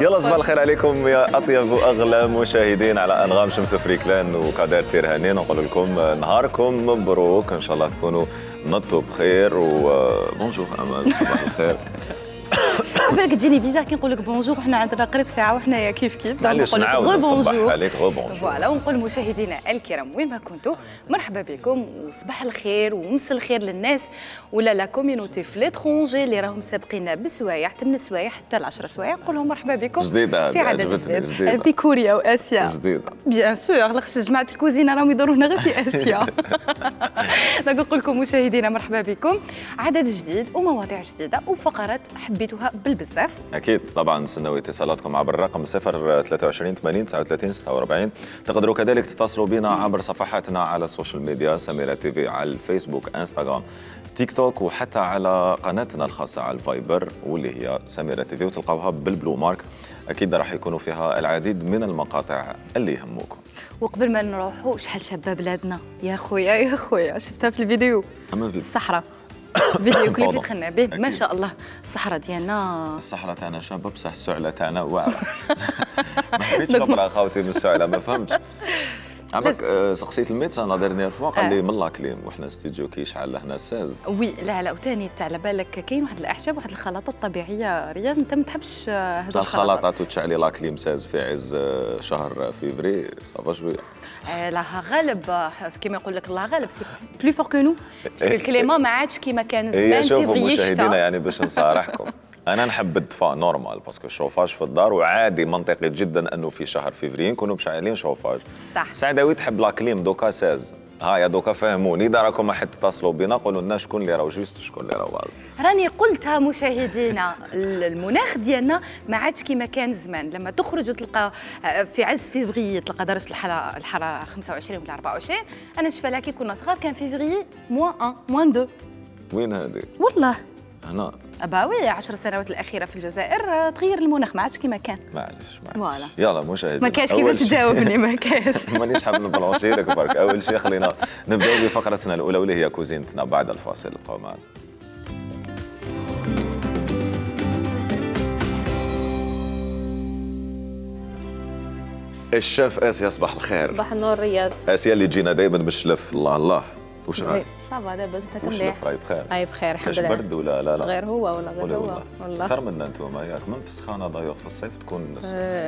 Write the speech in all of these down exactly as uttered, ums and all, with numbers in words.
يلا صباح الخير عليكم يا اطيب واغلى مشاهدين على انغام شمس فريكلان وكادر تيرهاني. نقول لكم نهاركم مبروك، ان شاء الله تكونوا نطوا بخير. وبونجور امل، صباح الخير. بالك تجيني بيزار كي نقول لك بونجور وحنا عندنا قريب ساعه وحنا كيف كيف معليش نعاود نصبح عليك غو بونجور. فوالا، ونقول مشاهدينا الكرام وين ما كنتوا مرحبا بكم وصباح الخير ومس الخير للناس ولا لا كوميونيتي في ليترونجي اللي راهم سابقينا بالسوايع ثمان سوايع حتى ل عشرة سوايع. نقول لهم مرحبا بكم جديده في عدد جديد في كوريا واسيا جديده بيان سور. لاخاطش جماعه الكوزينه راهم يدوروا هنا غير في اسيا. دونك نقول لكم مشاهدينا مرحبا بكم، عدد جديد ومواضيع جديده وفقرات حبيتوها بالبزاف. اكيد طبعا نستناو اتصالاتكم عبر الرقم صفر ثلاثة وعشرين ثمانين تسعة وثلاثين ستة وأربعين. تقدروا كذلك تتصلوا بنا عبر صفحاتنا على السوشيال ميديا سميرة تي في على الفيسبوك انستغرام تيك توك، وحتى على قناتنا الخاصه على الفايبر واللي هي سميرة تي في، وتلقاوها بالبلو مارك. اكيد راح يكونوا فيها العديد من المقاطع اللي يهموكم. وقبل ما نروحوا شحال شابه بلادنا يا خويا يا خويا، شفتها في الفيديو الصحراء فيديو كليب اللي دخلنا به ما شاء الله. الصحراء ديالنا الصحراء تاعنا شابه بصح السعله تاعنا واعره. ما حبيتش نقرا خاوتي من السعله، ما فهمتش. عمرك سقسيت الميدسان لا ديرنيير فوا قال لي من لاكليم وحنا استوديو كي شحال لهنا ساز. وي لا لا، وثاني تاع على بالك كاين واحد الاعشاب واحد الخلطات طبيعيه. رياض انت ما تحبش هذو الخلطات وتشعلي لاكليم ساز في عز شهر فيفري صافا شويه. لا غالب كيما يقول لك الله غالب سي بلو فور كو نو، باسكو الكليما ما عادش كيما كان زمان. شوفوا مشاهدينا يعني باش نصارحكم انا نحب الدفاء نورمال باسكو الشوفاج في الدار، وعادي منطقي جدا انه في شهر فيفري نكونوا مشعلين شوفاج. صح. سعداوي تحب لاكليم دوكا ساز. هايا دوكا فهموني، اذا راكم حد تتصلوا بنا قولوا لنا شكون اللي راهو جوست شكون اللي راهو. راني قلتها مشاهدينا، المناخ ديالنا ما عادش كيما كان زمان. لما تخرج وتلقى في عز فيفري تلقى درجه الحراره الحراره خمسة وعشرين ولا أربعة وعشرين. انا شفالها كي كنا صغار كان فيفري موان واحد موان اثنين. وين هذه؟ والله هنا أباوي عشر سنوات الأخيرة في الجزائر تغير المناخ، ما عادش كيما كان. معليش معليش يلا مشاهدينا ما كاش كيفاش تجاوبني، ما كاش. مانيش حاب نبلونشي لك برك. أول شيء خلينا نبداو بفقرتنا الأولى واللي هي كوزينتنا بعد الفاصل. بقاو معنا. الشيف آسيا صباح الخير. صباح النور رياض. آسيا اللي تجينا دائما بالشلف. الله الله واش رايك؟ صافا لاباس انت كملي. واش رايك بخير؟ اي بخير الحمد لله. برد ولا لا لا؟ غير هو ولا غير هو والله اكثر منا انتم ياك من في السخانه ضيوق في الصيف تكون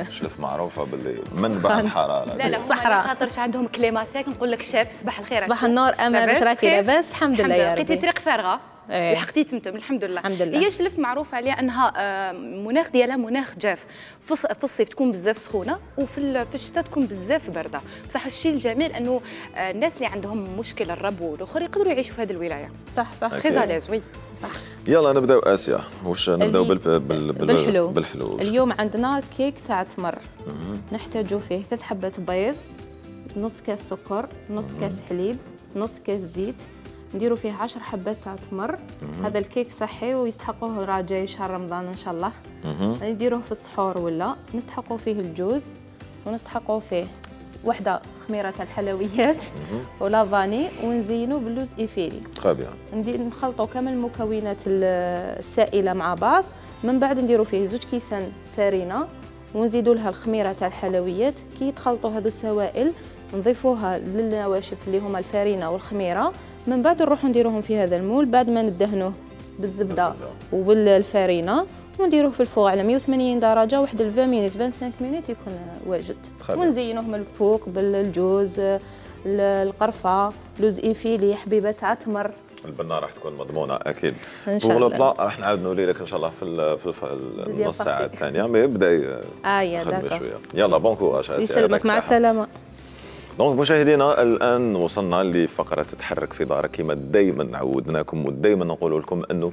شلف معروفه باللي منبع الحراره. لا لا الصحراء خاطرش عندهم كليما ساك. نقول لك شاف صباح الخير. صباح النور امل، واش راكي لاباس؟ الحمد لله يا ربي. لقيتي طريق فارغه لحقتي تمتم الحمد لله. الحمد لله. هي شلف معروف عليها انها مناخ ديالها مناخ جاف. في الصيف تكون بزاف سخونه وفي في الشتاء تكون بزاف بارده. بصح الشيء الجميل انه الناس اللي عندهم مشكل الربو والاخر يقدروا يعيشوا في هذه الولايه. صح صح خي زاليز. وي صح. يلا نبداو اسيا. واش نبداو بال... بال... بالحلو. بالحلو. اليوم عندنا كيك تاع تمر. نحتاجوا فيه ثلاث حبات بيض، نص كاس سكر، نص كاس حليب، نص كاس زيت. نديروا فيه عشر حبات تاع تمر. هذا الكيك صحي ويستحقوه راه جاي شهر رمضان ان شاء الله. نديروه في السحور ولا نستحقوا فيه الجوز، ونستحقوا فيه وحده خميره تاع الحلويات ولا فاني، ونزينوا باللوز ايفيلي. تري بيان. ندير نخلطوا كامل المكونات السائله مع بعض. من بعد نديروا فيه زوج كيسان فرينه، ونزيدوا لها الخميره تاع الحلويات. كي يتخلطوا هذو السوائل نضيفوها للنواشف اللي هما الفرينه والخميره. من بعد نروحوا نديروهم في هذا المول بعد ما ندهنوه بالزبده وبالفرينه، ونديروه في الفوق على مية وثمانين درجه واحد عشرين مينوت خمسة وعشرين مينوت يكون واجد. ونزينوه من الفوق بالجوز، القرفه، لوز ايفيلي، حبيبه تاع تمر. البنه راح تكون مضمونه اكيد. ان شاء الله. بلان راح نعاود نولي لك ان شاء الله في في النص ساعه الثانيه، مي يبدا اه شويه. يلا بون كوراج اسيا. يسلمك مع السلامه. دونك مشاهدينا الان وصلنا لفقره تتحرك في دارك كما دائما عودناكم ودائما نقول لكم انه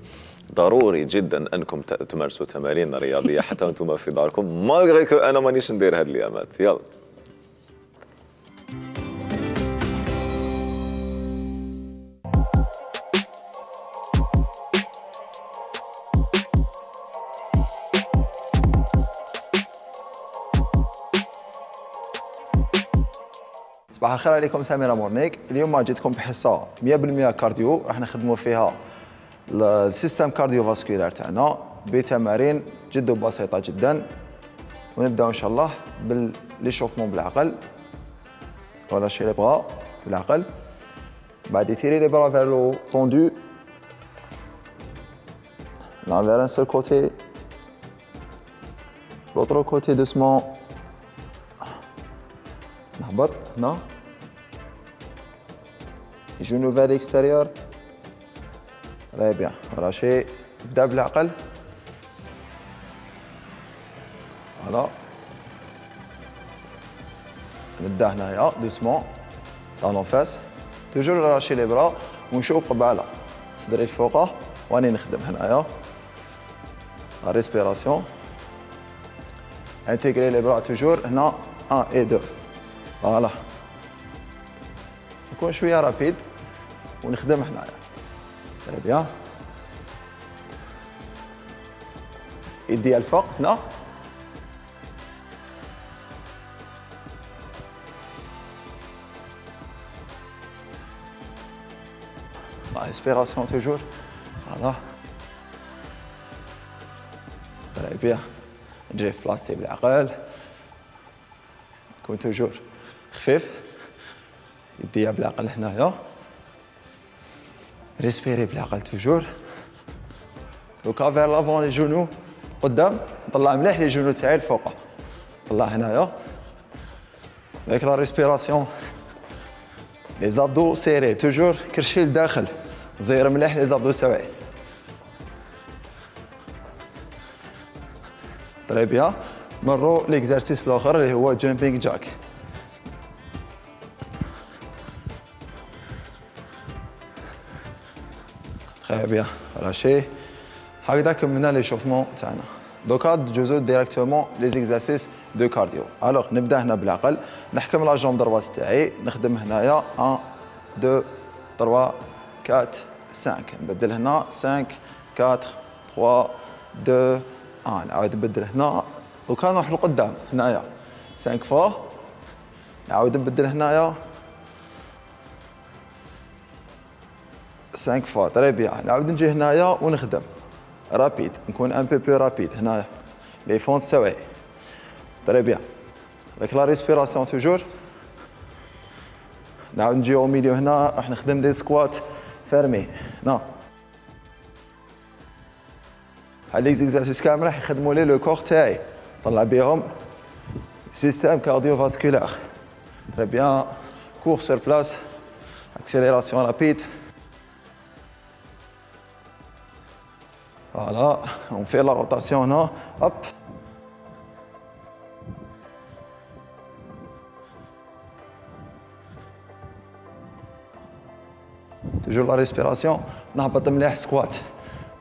ضروري جدا انكم تمارسوا تمارين رياضيه حتى وانتم في داركم، مالغري كو انا مانيش ندير هاد الايامات. يلا صباح الخير عليكم. سميرة مورنيك. اليوم جيتكم بحصه مية بالمية كارديو. راح نخدموا فيها السيستم كارديو فاسكولار تاعنا بتمارين جد بسيطه جدا. ونبداو ان شاء الله بالليشوفمون بالعقل. relâchez les bras بالعقل. بعد étirer les bras vers le haut tendu. Là vers un seul côté. L'autre côté doucement. نهبط هنا. Les genoux vers l'extérieur. Très bien. relâchez. نبدا بالعقل. Voilà. نبدا هنايا doucement. Dans en face. Toujours relâcher les bras ونشوف قبالة. صدري الفوقه واني نخدم هنايا. La respiration. Intégrer les bras toujours هنا un et deux. Voilà. نكون شوية رابيد ونخدم هنايا. Très bien. يدي الفوق هنا. La respiration toujours. Voilà. Très bien. نجي في بلاصتي بالعقل. نكون توجور خفيف. يديها بالعقل هنايا. ريسبيري بالعقل توجور. دوكا فير لافون لي جونو قدام. نطلع مليح لي جونو تاعي الفوق. نطلع هنايا. avec la respiration. Les abdos serrés توجور كرشي لداخل. زير مليح لي زابدو تاعي. تري بيان. مروا ليكزارسيس الاخر اللي هو جامبينغ جاك. تري بيان. راشي. هكذا كملنا لي شوفمون تاعنا. دوكا ندوزو ديريكتومون لي زيكزارسيس دو كارديو. الوغ نبدا هنا بالعقل. نحكم لا جامب دروات تاعي. نخدم هنايا واحد اثنين ثلاثة أربعة خمسة. نبدل هنا خمسة أربعة ثلاثة اثنين واحد. نعاود نبدل هنا. دوكا نروح لقدام هنايا خمسة فوا. نعاود نبدل هنايا خمسة فوا. تري بيان. نعاود نجي هنايا ونخدم رابيد. نكون ان بو بلو رابيد هنايا لي فونس تاعي. تري بيان. avec la respiration toujours. نعاود نجي او ميليو هنا راح نخدم دي سكوات فيرمي. نو هاد لي زيكزارسيس كامل راح يخدموا لي لو كور تاعي. طلع بيهم سيستيم كارديو فاسكولار. تري بيان. كور سور بلاس. اكسيليراسيون رابيد. فوالا. on fait la rotation هنا. هوب. toujours la respiration. نهبط مليح سكوات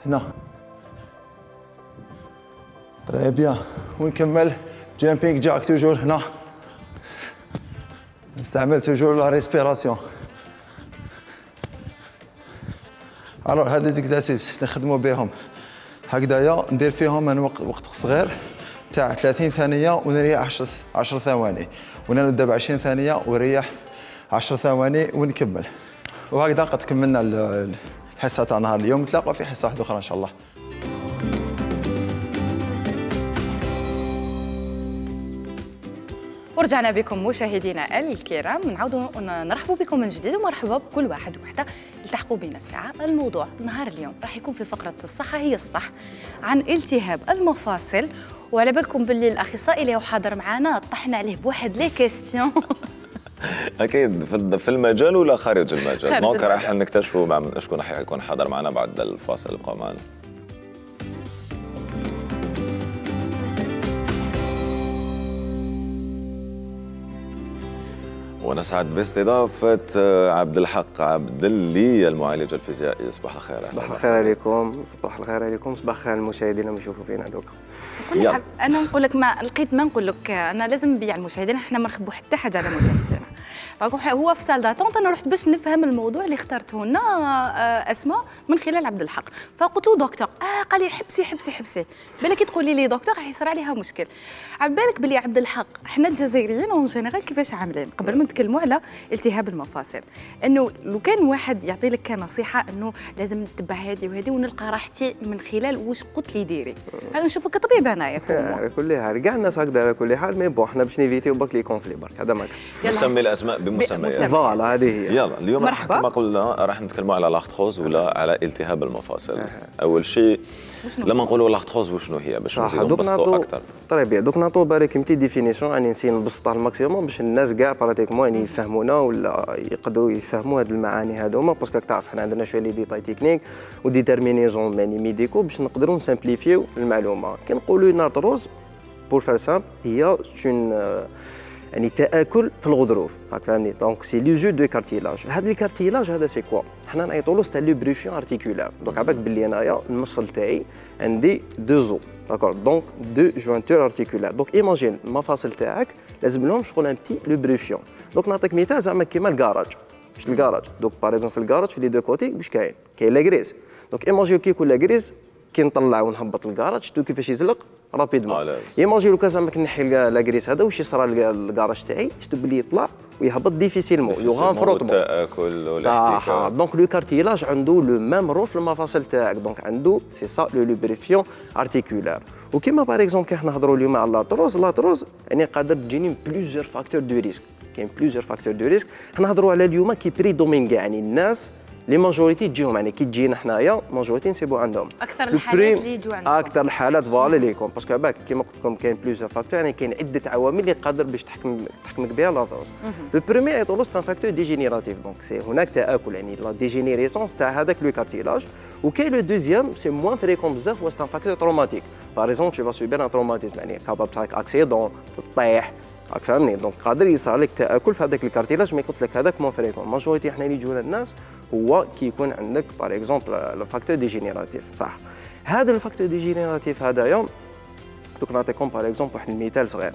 هنا. تري بيان. ونكمل جامبينغ جاك توجور هنا. نستعمل توجور لا ريسبيراسيون. الوغ هاد لي زيكزارسيس نخدمو بهم هكذايا. ندير فيهم من وقت قصير تاع ثلاثين ثانية ونريح عشر ثواني. ونبدا ب عشرين ثانية ونريح عشر ثواني ونكمل. وهكذا قد كملنا الحصة تاع نهار اليوم. نتلاقاو في حصة واحدة أخرى إن شاء الله. ورجعنا بكم مشاهدينا الكرام. نعاودوا نرحبوا بكم من جديد ومرحبا بكل واحد وحده التحقوا بنا الساعه. الموضوع نهار اليوم راح يكون في فقره الصحه هي الصح عن التهاب المفاصل. وعلى بالكم باللي الاخصائي اللي هو حاضر معنا طحنا عليه بواحد لي كيستيون. اكيد في المجال ولا خارج المجال؟ دونك راح نكتشفوا مع شكون راح يكون حاضر معنا بعد الفاصل. ابقوا معنا. ونسعد باستضافة عبد الحق عبد اللي المعالج الفيزيائي. صباح الخير. صباح الخير عليكم. صباح الخير عليكم. صباح الخير المشاهدين اللي يشوفوا فينا دوكا. انا نقول لك ما لقيت ما نقول لك انا لازم نبيع المشاهدين. احنا ما نخبوا حتى حاجه على مشاهدينا. دونك هو في سال داتونت انا رحت باش نفهم الموضوع اللي اخترته لنا اسماء من خلال عبد الحق، فقلت له دكتور اه قال لي حبسي حبسي حبسي بالك تقولي لي دكتور راح يصير عليها مشكل. على بالك بلي عبد الحق احنا الجزائريين اون جينيرال كيفاش عاملين قبل ما نتكلموا على التهاب المفاصل، انه لو كان واحد يعطي لك كنصيحه انه لازم نتبع هذه وهذه ونلقى راحتي من خلال واش قلت لي ديري، انا نشوفك كطبيب انايا على كل حال كاع الناس هكذا على كل حال، مي بون حنا باش نيفيتيو برك لي كونفلي برك هذا ما كان نسمي الاسماء بمسميات. فوالا هذه هي. يلا اليوم راح كما قلنا راح نتكلموا على لاختروز ولا على التهاب المفاصل. اول شيء لما نقولوا لاختروز وشنو هي باش نزيدوا نبسطوا اكثر. طيب بيان دوك نعطوا بالك متي ديفينيسيون يعني نسي نبسطها الماكسيموم باش الناس كاع براتيكمون يعني يفهمونا ولا يقدروا يفهموا هاد المعاني هذوما، باسكو راك تعرف حنا عندنا شويه لي ديتاي تكنيك وديتيرمينيزون يعني ميديكو باش نقدروا نسامبليفيو المعلومه. كي نقولوا نارتروز بور فار سامبل هي اون يعني تاكل في الغضروف، راك فاهمني. دونك سي لو جو دو كارتيلاج. هذا الكارتيلاج هذا سي كوا؟ حنا نعيطوا له ستا لوبريفيون ارتيكولار. دونك عباك باللي انايا المفصل تاعي عندي دو زو داكور، دونك دو جوانتور ارتيكولار. دونك ايماجين المفاصل تاعك لازم لهم شغل ان بتي لوبريفيون. دونك نعطيك مثال زعما كيما الكراج، واش الكراج دونك باغ اكزومبل في الكراج في لي دو كوتي واش كاين؟ كاين لا غريز. دونك ايماجين كي يكون لا غريز كي نطلع ونهبط الكراج شفتوا كيفاش يزلق رابيدمون. ايماجين لو كان زعما كنحي لا غريس هذا واش يصرى الكراج تاعي شفتوا بلي يطلع ويهبط ديفيسيلمون يوغان فروتمون التاكل والاحتكاك. دونك لو كارتيلاج عنده لو ميم رول في المفاصل تاعك، دونك عنده سي سا لو لوبريفيون ارتيكولار. وكيما باغ اكزومبل كي حنا نهضروا اليوم على لاتروز، لاتروز يعني قادر تجيني بليزيور فاكتور دو ريسك، كاين بليزيور فاكتور دو ريسك. حنا نهضروا على اليوم كي بريدومين كاع يعني الناس لي ماجوريتي تجيهم يعني كي تجينا حنايا ماجوريتي نسيبو عندهم اكثر الحالات اللي يجوا عندكم اكثر الحالات فوالا ليكم باسكو باك كيما قلت لكم كاين بليزيور فاكتور يعني كاين عده عوامل اللي قادر باش تحكم تحكمك بها لاتروز. لو بروميير ايطولوس سان فاكتور ديجينيراتيف، دونك سي هناك تاكل يعني لا ديجينيريسونس تاع هذاك لو كارتيلاج. وكاين لو دوزيام سي موان فريكون بزاف هو سان فاكتور تروماتيك. باغ اكزومبل تو فا سوبير ان تروماتيزم يعني كاباب تاعك اكسيدون طيح راك فاهمني. دونك قادر يصير لك تاكل في هذاك الكارتيلاج، مي قلت لك هذاك مون فريكون. ماجوريتي حنا اللي يجونا الناس هو كي يكون عندك باغ اكزومبل لو فاكتور ديجينيراتيف صح. هذا الفاكتور ديجينيراتيف هذايا دوك نعطيكم باغ اكزومبل واحد المثال صغير.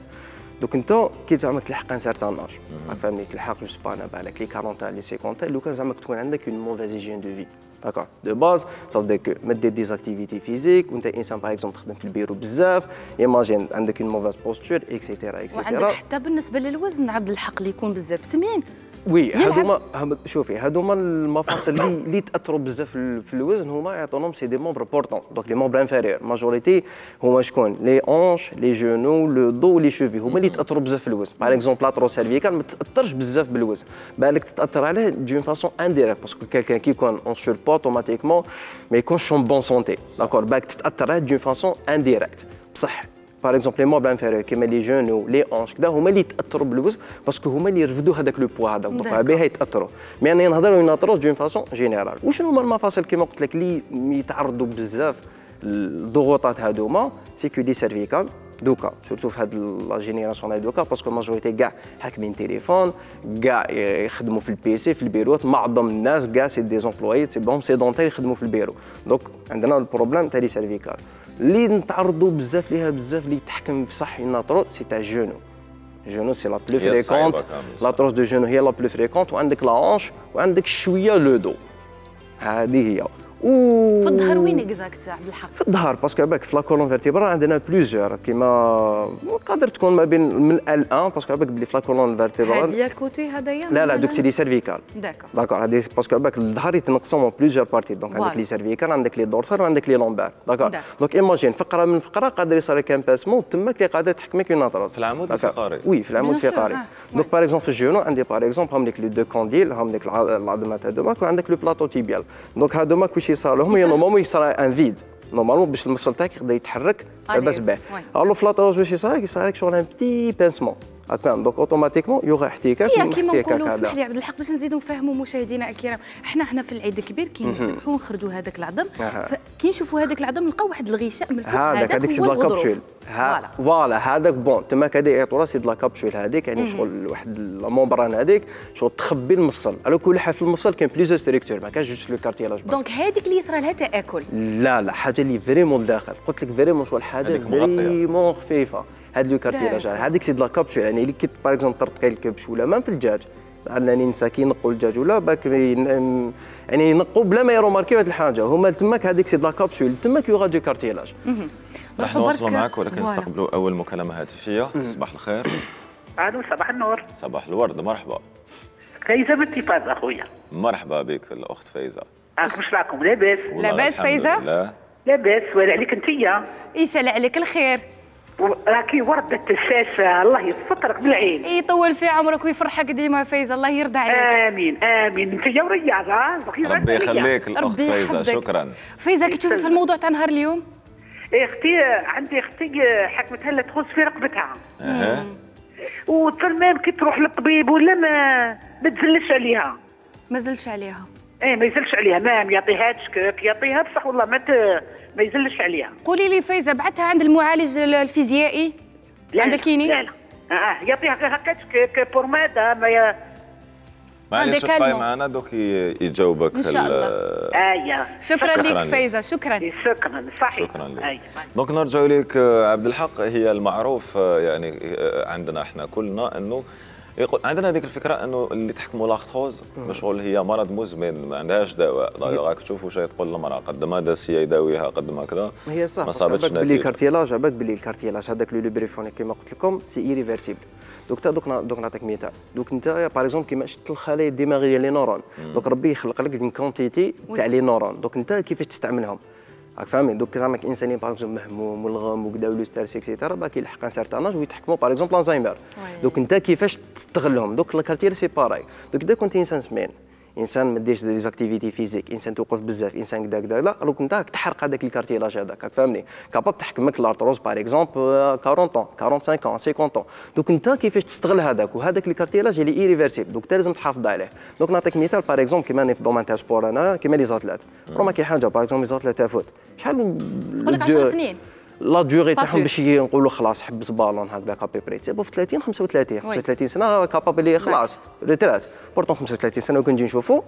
دوك انت كي زعما تلحق ان سارتان اج راك فاهمني تلحق جو سبا انا بالك لي أربعين لي خمسين لو كان زعما تكون عندك اون موفيز هيجين دو في داكور دو باز صافي ديك ما دير ديزاكتيفيتي فيزيك وانت انسان باغ اكزومبل تخدم في البيرو بزاف ايماجين عندك اون موفيز بوستور اكسيتيرا اكسيتيرا. وعندك حتى بالنسبه للوزن عبد الحق اللي يكون بزاف سمين. وي هذوما شوفي هذوما المفاصل اللي اللي تاثروا بزاف في الوزن هما يعطونهم سي دي مومبر بورتون. دونك لي مومبر انفيريور ماجوريتي هما شكون؟ لي اونش لي جونو لو دو لي شوفي هما اللي تاثروا بزاف في الوزن. باغ اكزومبل لاترو سيرفيكال ما تاثرش بزاف بالوزن، بالك تتاثر عليه دون فاسون انديريكت باسكو كالكان كي يكون اون سور بو اوتوماتيكمون ما يكونش اون بون سونتي داكور بالك تتاثر عليه دون فاسون انديريكت بصح. باغ اكزومبل لي موبل انفيريور كيما لي جونو لي اونش كدا هما اللي يتاثروا بالوزن باسكو هما اللي يرفدوا هذاك لو بوا هذا دونك بها يتاثروا. مي انا نهضروا ناتروز دون فاسون جينيرال. وشنو هما المفاصل كيما قلت لك اللي يتعرضوا بزاف الضغوطات هذوما؟ سيكو دي سيرفيكال دوكا سورتو في هاد لا جينيراسيون هاد دوكا باسكو ماجوريتي كاع حاكمين تليفون كاع يخدموا في البيسي في البيروت. معظم الناس كاع سي دي زومبلوي سي بهم سيدونتير يخدموا في البيرو. دونك عندنا البروبليم تاع لي سيرفيكال اللي نتعرضوا بزاف ليها بزاف اللي تحكم في صح ناتروز سي تاع جونو. جونو سي لا بلو فريكونت لاتروز دو جونو هي لا بلو فريكونت وعندك لا اونش وعندك شويه لو دو هذه هي. و في الظهر وين اكزاكت عبد الحق؟ في الظهر باسكو باك في لا كولون فيرتيبرال عندنا بليزيور كيما قادر تكون ما بين من ال واحد باسكو باك بلي في لا كولون فيرتيبرال هذه الكوتي هذايا لا لا دوك سي دي سيرفيكال داكور داكور هذه باسكو باك الظهر يتنقسم من بليزيور بارتي دونك عندك لي سيرفيكال عندك لي دورسال وعندك لي لومبار داكور. دونك ايماجين فقره من فقره قادر يصير لك ان باسمون تماك اللي قادر تحكمك اون ناتروز في العمود الفقري. وي في العمود الفقري. دونك باغ اكزومبل في الجونو عندي باغ اكزومبل هم ليك لي دو كونديل هم ليك العظمات هذوماك وعندك لو بلاطو تيبيال. دونك هذوماك واش يصير لهم نورمالمون يصير ان فيد نورمالمون باش المفصل تاعك يقدر يتحرك لاباس به. الو في لاتروز واش يصير يصير لك شغل ان بتي بانسمون هكا دونك اوتوماتيكمون يوغا احتكاك هي كيما نقولوا اسمح لي عبد الحق باش نزيدوا نفهموا مشاهدينا الكرام. احنا هنا في العيد الكبير كي نذبحوا ونخرجوا هذاك العظم كي نشوفوا هذاك العظم نلقاو واحد الغشاء من فوق هذاك هذيك سي لا كابسول فوالا هذاك بون تما هذه يعطوها سي لا كابسول هذيك يعني شغل واحد لا ممبران هذيك شغل تخبي المفصل. على كل حال في المفصل كاين بليزيور ستركتور ما كانش جوست لو كارتيلاج. دونك هذيك اللي يصرى لها تاكل لا لا حاجه اللي فريمون لداخل قلت لك فريمون شغل حاجه فريمون خفيفه. هاد لو كارتيلاج هذيك سي د لا كابسول يعني اللي كي باغ اكزومبل طرت كاين الكبش ولا مام في الدجاج انني نسى كي ينقوا الدجاج ولا باك يعني ينقوا بلا ما يروماركيو هذه الحاجه هما تماك هذيك سي لا كابسول تماك يوغا دو كارتيلاج. راح نواصلوا معك ولكن نستقبلوا اول مكالمه هاتفيه. صباح الخير. الو صباح النور. صباح الورد. مرحبا. فايزه بالتفاز اخويا. مرحبا بك الاخت فايزه. واش راكم لاباس؟ لاباس فايزه؟ لا لاباس ولا عليك انتيا؟ يسال عليك الخير. راكي وردة الشاشة الله يسترك بالعين. يطول في عمرك ويفرحك ديما فايزة الله يرضى عليك. امين امين انتيا ورياضة. ربي يخليك الاخت فايزة شكرا. فايزة كي تشوفي في الموضوع تاع نهار اليوم؟ ايه اختي عندي اختي حكمتها لها تخص في رقبتها. اها. وتمام كي تروح للطبيب ولا ما ما تزلش عليها. ما زلش عليها. ايه ما يزلش عليها ما يعطيهاش كيك يعطيها بصح والله ما ما يزلش عليها. قولي لي فايزه بعتها عند المعالج الفيزيائي عند الكيني؟ لا لا اه يعطيها هكاك كيك بورماده ما ي... معليش بقاي معنا دوك يجاوبك ان شاء الله. اييه شكرا لك فايزه. شكرا شكرا صحيح. شكرا لك. دونك نرجع لك عبد الحق. هي المعروف يعني عندنا احنا كلنا انه يقول عندنا هذيك الفكره انه اللي تحكموا لاختروز بشغل هي مرض مزمن ما عندهاش دواء. راك تشوفوا شيء تقول المراه قد ما داس هي يداويها قد ما كذا هي صح. ما صابتش نتيجه. بلي كارتيلاج عباك بلي الكارتيلاج هذاك لو لوبريفونيك كما قلت لكم سي ايريفيرسيبل. دوك تا دوك دوك نعطيك مثال. دوك انت باغ اكزومبل كيما شفت الخلايا الدماغيه لي نورون دوك ربي يخلق لك اون كونتيتي تاع لي نورون دوك انت كيفاش تستعملهم راك فاهمين. دوك زعما انسان باغ اكزومبل مهموم والغم وكذا ولو ستريس اكسيتيرا باك يلحق ان سارتان اج ويتحكموا باغ اكزومبل الزهايمر. دوك انت كيفاش تستغلهم. دوك الكارتير سي باراي. دوك اذا كنت انسان سمين انسان ما ديرش دي زاكتيفيتي فيزيك انسان توقف بزاف انسان كذا كذا لا دونك انت تحرق هذاك الكارتيلاج هذاك راك فاهمني. كاباب تحكمك لارتروز باغ اكزومبل أربعين طون خمسة وأربعين طون خمسين طون. دوك انت كيفاش تستغل هذاك وهذاك الكارتيلاج اللي ايريفيرسيبل دوك انت لازم تحافظ عليه. دوك نعطيك مثال باغ اكزومبل كيما انا في دومين تاع سبور انا كيما لي زاتلات راه كاين حاجه باغ اكزومبل لي زاتلات تاع فوت شحال نقول لك عشر سنين لا ديوري تاعهم باش نقولوا خلاص حبس بالون هكذا كابي بري تسيبو في ثلاثين خمسة وثلاثين خمسة وثلاثين سنه كابابيلي خلاص ريترات بورتون خمسة وثلاثين سنه وكنجي نشوفو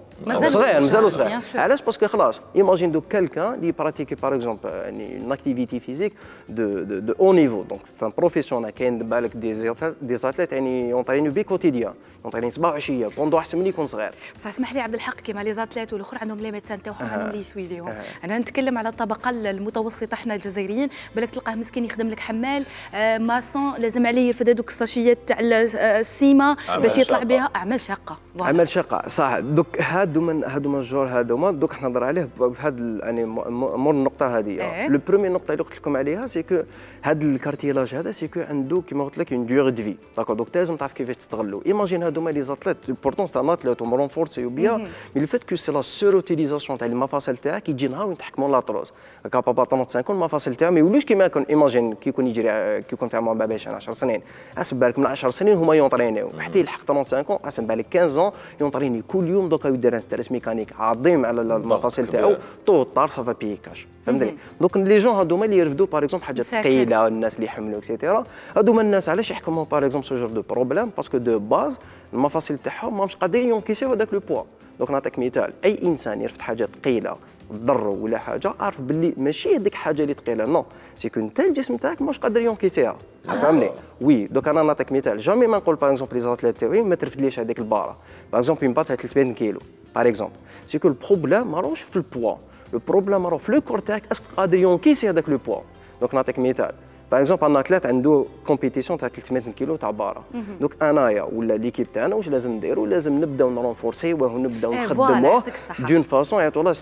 صغير مازالو صغير. علاش باسكو خلاص ايماجين دو كالكان اللي براتيكي باغ اكزومبل يعني اون اكتيفيتي فيزيك دو دو دو او نيفو دونك سي ان بروفيسيونال كاين بالك دي دي زاتليت يعني يونطرينو بي كوتيديان يونطريني صباح وعشيه بوندو احسن من يكون صغير. بصح اسمح لي عبد الحق كيما لي زاتليت والاخر عندهم لي ميدسان تاعهم عندهم لي يسويفيهم. انا نتكلم على الطبقه المتوسطه احنا الجزائريين بالك تلقاه مسكين يخدم لك حمال آه ماسون لازم عليه يرفد هذوك الساشيات تاع السيما باش يطلع بها اعمال شاقه. اعمال شاقه صح. دوك هادو من هادو من الجور هادوما دوك حنا نهضر عليه في هاد يعني مور النقطه هذه. لو برومي نقطه اللي قلت لكم عليها سي كو هاد الكارتيلاج هذا سي كو عنده كيما قلت لك اون ديوري دو في داكور. دوك لازم تعرف كيفاش تستغلو. ايماجين هادوما لي زاتليت بورتون سي ان اتليت وم رونفورسي بيان مي لو فيت كو سي لا سور اوتيليزاسيون تاع المفاصل تاعك يجي نهار يتحكموا لاطروز كابابا خمسة وثلاثين المفاصل تاعو ما يولوش كيما يكون ايماجين كي يكون يجري كي يكون في عمر باباش عشر سنين حسب بالك من عشر سنين هما يونطرينيو حتى يلحق خمسة وثلاثين حسب بالك خمسة عشر يونطريني كل يوم دوكا يدير ان ستريس ميكانيك عظيم على المفاصل تاعو طو طار صافا بيكاش فهمتني. دونك لي جون هادوما اللي يرفدوا باغ اكزومبل حاجات ثقيله الناس اللي يحملوا اكسيتيرا هادوما الناس علاش يحكموا باغ اكزومبل سو جور دو بروبليم باسكو دو باز المفاصل تاعهم ماهمش قادرين ينكسيو هذاك لو بوا. دونك نعطيك مثال اي انسان يرفد حاجه ثقيله تضرو ولا حاجه عارف باللي ماشي هذيك الحاجه اللي ثقيله نو سي كون انت الجسم تاعك ماش قادر ينكسيها فهمني. وي دوك انا نعطيك مثال جامي ما نقول باغ اكزومبل لي زاتليت تاعي ما ترفدليش هذيك الباره باغ اكزومبل اون بات ثلاثمية كيلو باغ اكزومبل سي كو البروبليم ماروش في البوا لو بروبليم راه في لو كور تاعك اسكو قادر ينكسي هذاك لو بوا. دونك نعطيك مثال باغ اكزومبل ان اتليت عنده كومبيتيسيون تاع ثلاثمية كيلو تاع باره دوك انايا ولا ليكيب تاعنا واش لازم نديرو لازم نبداو نرونفورسيوه ونبداو نخدموه دون فاسون يعطوا له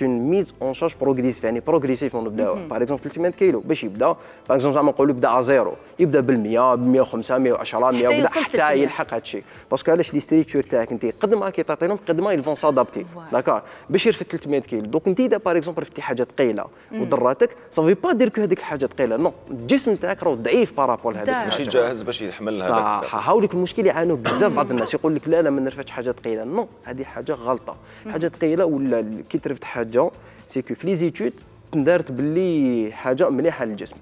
اون ميز اون شارج بروغريسيف يعني بروغريسيف نبداو باغ اكزومبل ثلاثمية كيلو باش يبدا باغ اكزومبل زعما نقولوا يبدا زيرو يبدا بال مية ب مية وخمسة مية وعشرة مية وبدا حتى يلحق هذا الشيء باسكو علاش لي ستريكتور تاعك انت قد ما كي تعطيهم قد ما يلفون سادابتي داكور باش يرفد ثلاثمية كيلو. دوك انت اذا باغ اكزومبل رفتي حاجه ثقيله ودراتك صافي با دير كو هذيك الحاجه ثقيله نو الجسم تاعك راه ضعيف بارابول هذاك ماشي جاهز باش يحمل هذاك صح. هاوليك المشكل يعانوا بزاف بعض الناس يقول لك لا لا ما نرفدش حاجه ثقيله نو هذه حاجه غلطه. حاجه ثقيله ولا كي ترفد حاجه سي كو في لي زيتود دارت باللي حاجه مليحه للجسم.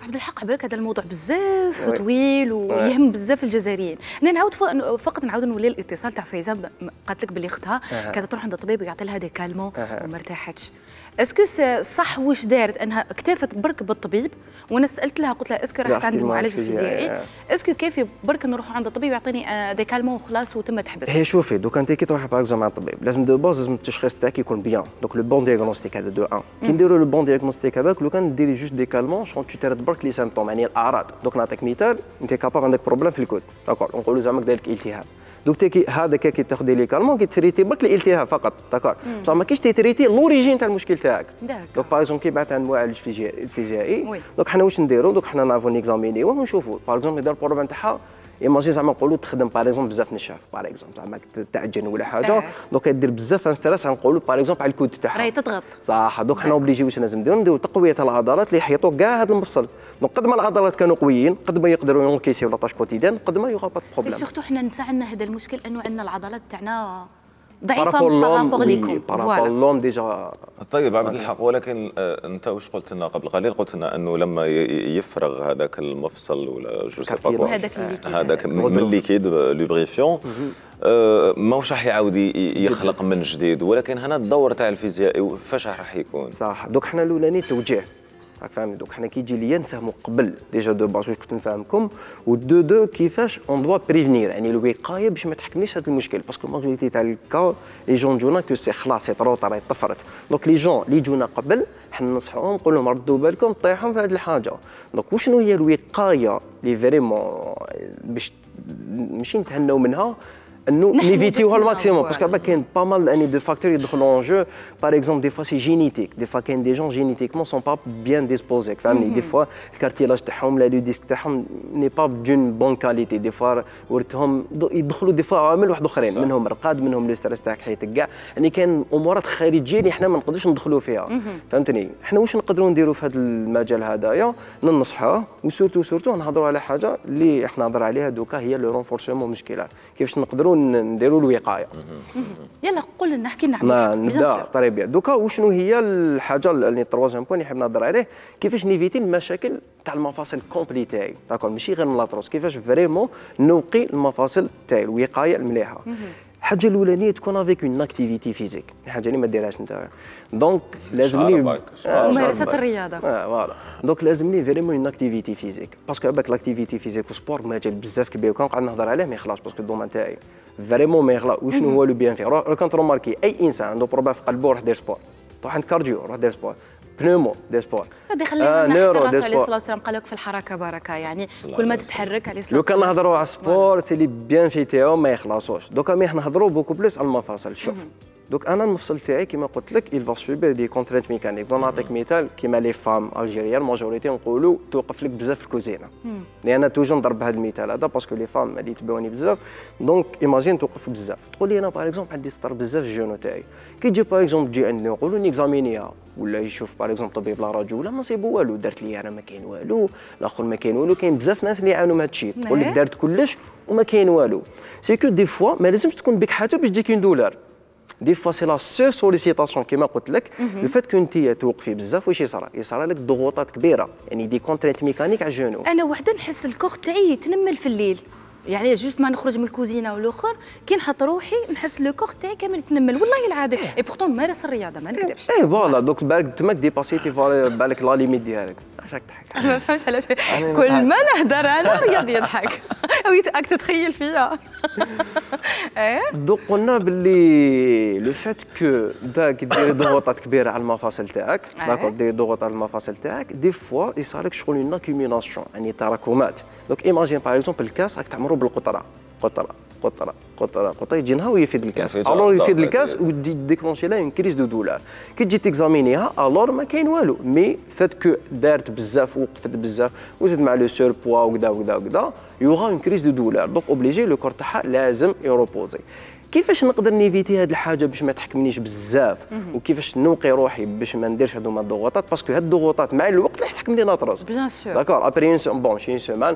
عبد الحق عبالك هذا الموضوع بزاف طويل ويهم بزاف الجزائريين. انا نعاود فقط نعاود نولي الاتصال تاع فايزه قالت لك باللي اختها كانت تروح عند الطبيب ويعطي لها دي كالمون وما ارتاحتش. اسكو صح واش دارت انها اكتفت برك بالطبيب؟ وانا سالت لها قلت لها اسكو راحت عند المعالج الفيزيائي؟ اسكو كيفي برك نروحوا عند الطبيب يعطيني دي كالمون وخلاص وتم تحبس؟ هي شوفي دوك انت كي تروحي باغ اكزومبل عند الطبيب لازم دو باز لازم التشخيص تاعك يكون بيان. دوك لو بون دياغنوستيك هذا دو واحد كي نديروا لو بون دياغنوستيك هذاك لو كان ديري جوست دي كالمون شون تو ترد برك لي سيمبتوم يعني الاعراض. دوك نعطيك مثال انت كاباب عندك بروبليم في الكود داكور نقولوا زعما دايرك التهاب دوك تي هذا كي تاخذي لي كالمون كي تريتي برك الالتهاب فقط داكور بصح ما كاينش تريتي لوريجين تاع المشكل تاعك. دوك باغ اكزومبل كي بعث عند معالج فيزيائي دوك حنا واش نديروا دوك حنا نعرفوا نيكزامينيوه ونشوفوا باغ اكزومبل يدير البروبليم تاعها ايماجين زعما نقولوا تخدم باغ اكزومبل بزاف نشاف باغ اكزومبل زعما تعجن ولا حاجه دوك دير بزاف ستريس نقولوا باغ اكزومبل على الكود تاعها راهي تضغط صح. دوك حنا اوبليجي واش لازم نديروا نديروا تقويه العضلات اللي يحيطوا كاع هذا المفصل. دونك قد ما العضلات كانوا قويين قد ما يقدروا ينكيسيو لاطاش كوتيديان قد ما يوغا با بروبليم. سورتو حنا نسى عندنا هذا المشكل انه عندنا العضلات تاعنا ضعيفه بارابور ليكم بارابور لوم ديجا. طيب عبد الحق ولكن انت واش قلت لنا قبل قليل؟ قلت لنا انه لما يفرغ هذاك المفصل ولا جو سي با هذاك من الليكيد لوبريفيون ماهوش راح يعاود يخلق من جديد. ولكن هنا الدور تاع الفيزيائي فاش راح يكون؟ صح. دوك حنا الاولاني توجيه راك فاهمني. دوك حنا كي يجي ليا نفهموا قبل ديجا دو باز واش كنت نفهمكم ودو دو كيفاش اون دوا بريفنير يعني الوقايه باش ما تحكمنيش هذا المشكل باسكو ماجوريتي تاع الكا لي جون جونا كو سي خلاص سي طرو راهي طفرت. دونك لي جون اللي جونا قبل حنا ننصحوهم نقول لهم ردوا بالكم طيحوا في هذه الحاجه. دونك وشنو هي الوقايه اللي فريمون باش ماشي نتهناو منها انه نيفيتيوها الماكسيموم باسكو كاين با مال اني دو فاكتور يدخلوا اون جو باغ اكزومبل دي فوا سي جينيتيك دي فوا كاين دي جون جينيتيكمون سون با بيان ديسبوزي فهمني. دي فوا الكارتيلاج تاعهم لا لو ديسك تاعهم ني با دون بون كاليتي دي فوا ورثهم يدخلوا دي فوا عوامل واحد اخرين منهم رقاد منهم لو ستريس تاعك حياتك كاع يعني كاين امورات خارجيه اللي حنا ما نقدروش ندخلوا فيها فهمتني. حنا واش نقدروا نديروا في هذا المجال هذايا ننصحوه وسورتو سورتو نهضروا على حاجه اللي احنا نهضر عليها دوكا هي لو رونفورسمون مشكله كيفاش نقدروا نديروا الوقايه. يلا قول لنا احكي لنا نبدا طري بيان. دوكا وشنو هي الحاجه اللي تروازيام بوين اللي حاب نهضر عليه كيفاش نيفيتي المشاكل تاع المفاصل كومبلي تاعي داكور ماشي غير من لاطروس كيفاش فريمون نوقي المفاصل تاعي الوقايه المليحه. الحاجه الاولانيه تكون افيك اون اكتيفيتي فيزيك الحاجه اللي ما ديرهاش انت دونك لازمني ممارسه الرياضه اه فوالا دونك لازمني فريمون اون اكتيفيتي فيزيك باسكو باك لاكتيفيتي فيزيك وسبور مجال بزاف كبير وكان قاعد نهضر عليه ما يخلاص باسكو الدومين تاعي فريمون ما يخلاص. وشنو هو لو بيان في راك تروماركي اي انسان عنده بروبليم في قلبه روح دير سبور روح عند كارديو روح دير سبور بنومو دير سبور هذا خلينا نحكي الرسول عليه الصلاه والسلام قال لك في الحركه بركه يعني كل ما تتحرك عليه الصلاه والسلام. لو كان نهضروا على السبور سي لي بيان في تاعو ما يخلصوش. دوكا مي نهضروا بوكو بلوس على المفاصل. شوف دوك انا المفصل تاعي كيما قلت لك il va subir des contraintes mécaniques. دون نعطيك مثال كيما لي فام الجيريان ماجوريتي نقولوا توقف لك بزاف الكوزينه لان توجو نضرب هذا المثال هذا باسكو لي فام اللي يتبعوني بزاف دونك ايماجين توقف بزاف. تقول لي انا باغ اكزومبل عندي سطر بزاف الجونو تاعي كي تجي باغ اكزومبل تجي عندنا نقولوا نيكزامينيها ولا يشوف باغ اكزومبل طبيب لا راديو ولا ما صيبو والو دارت لي انا ما كاين والو الاخر ما كاين والو. كاين بزاف ناس اللي يعانوا من هذا الشيء تقول لك دارت كلش وما كاين والو. سي كو دي فوا ما لازمش تكون بك حاجه باش تجيك اون دولار دي فوا سي لا سو سوليسيتاسيون كيما قلت لك لو فات كنت توقفي بزاف واش يصرى يصرى لك ضغوطات كبيره يعني دي كونترينت ميكانيك على الجنو. انا وحده نحس الكوخ تاعي يتنمل في الليل يعني جوست ما نخرج من الكوزينه والاخر كي نحط روحي نحس لو كوخ تاعي كامل يتنمل والله العظيم. اي بورتون نمارس الرياضه ما نكذبش. اي فوالا دوك بالك تماك ديباسيتي بالك لا ليميت ديالك. علاش راك تضحك؟ ما فهمتش علاش كل ما نهضر انا رياض يضحك راك تتخيل فيا. دوك قلنا باللي لو فات كو داك دير ضغوطات كبيره على المفاصل تاعك داكور دير ضغوط على المفاصل تاعك دي فوا يصير لك شغل اون اكيوميناسيون يعني تراكمات. دونك ايماجين باغ اكزومبل الكاس راك تعمرو بالقطره قطره قطره قطره قطره يجي نهار ويفيد الكاس الور يفيد الكاس وديكلونشي لها اون كريز دو دولار. كي تجي تيكزامينيها الور ما كاين والو مي فات كو دارت بزاف وقفت بزاف وزيد مع لو سور بوا وكذا وكذا وكذا يوغا اون كريز دو دولار. دونك اوبليجي لو كور تاعها لازم يروبوزي. كيفاش نقدر نيفيتي هذه الحاجه باش ما تحكمنيش بزاف وكيفاش نوقي روحي باش ما نديرش هذوما الضغوطات باسكو هاد الضغوطات مع الوقت راح تحكم لي ناطرز بيان سور داكور ابري اون بون شي سيمان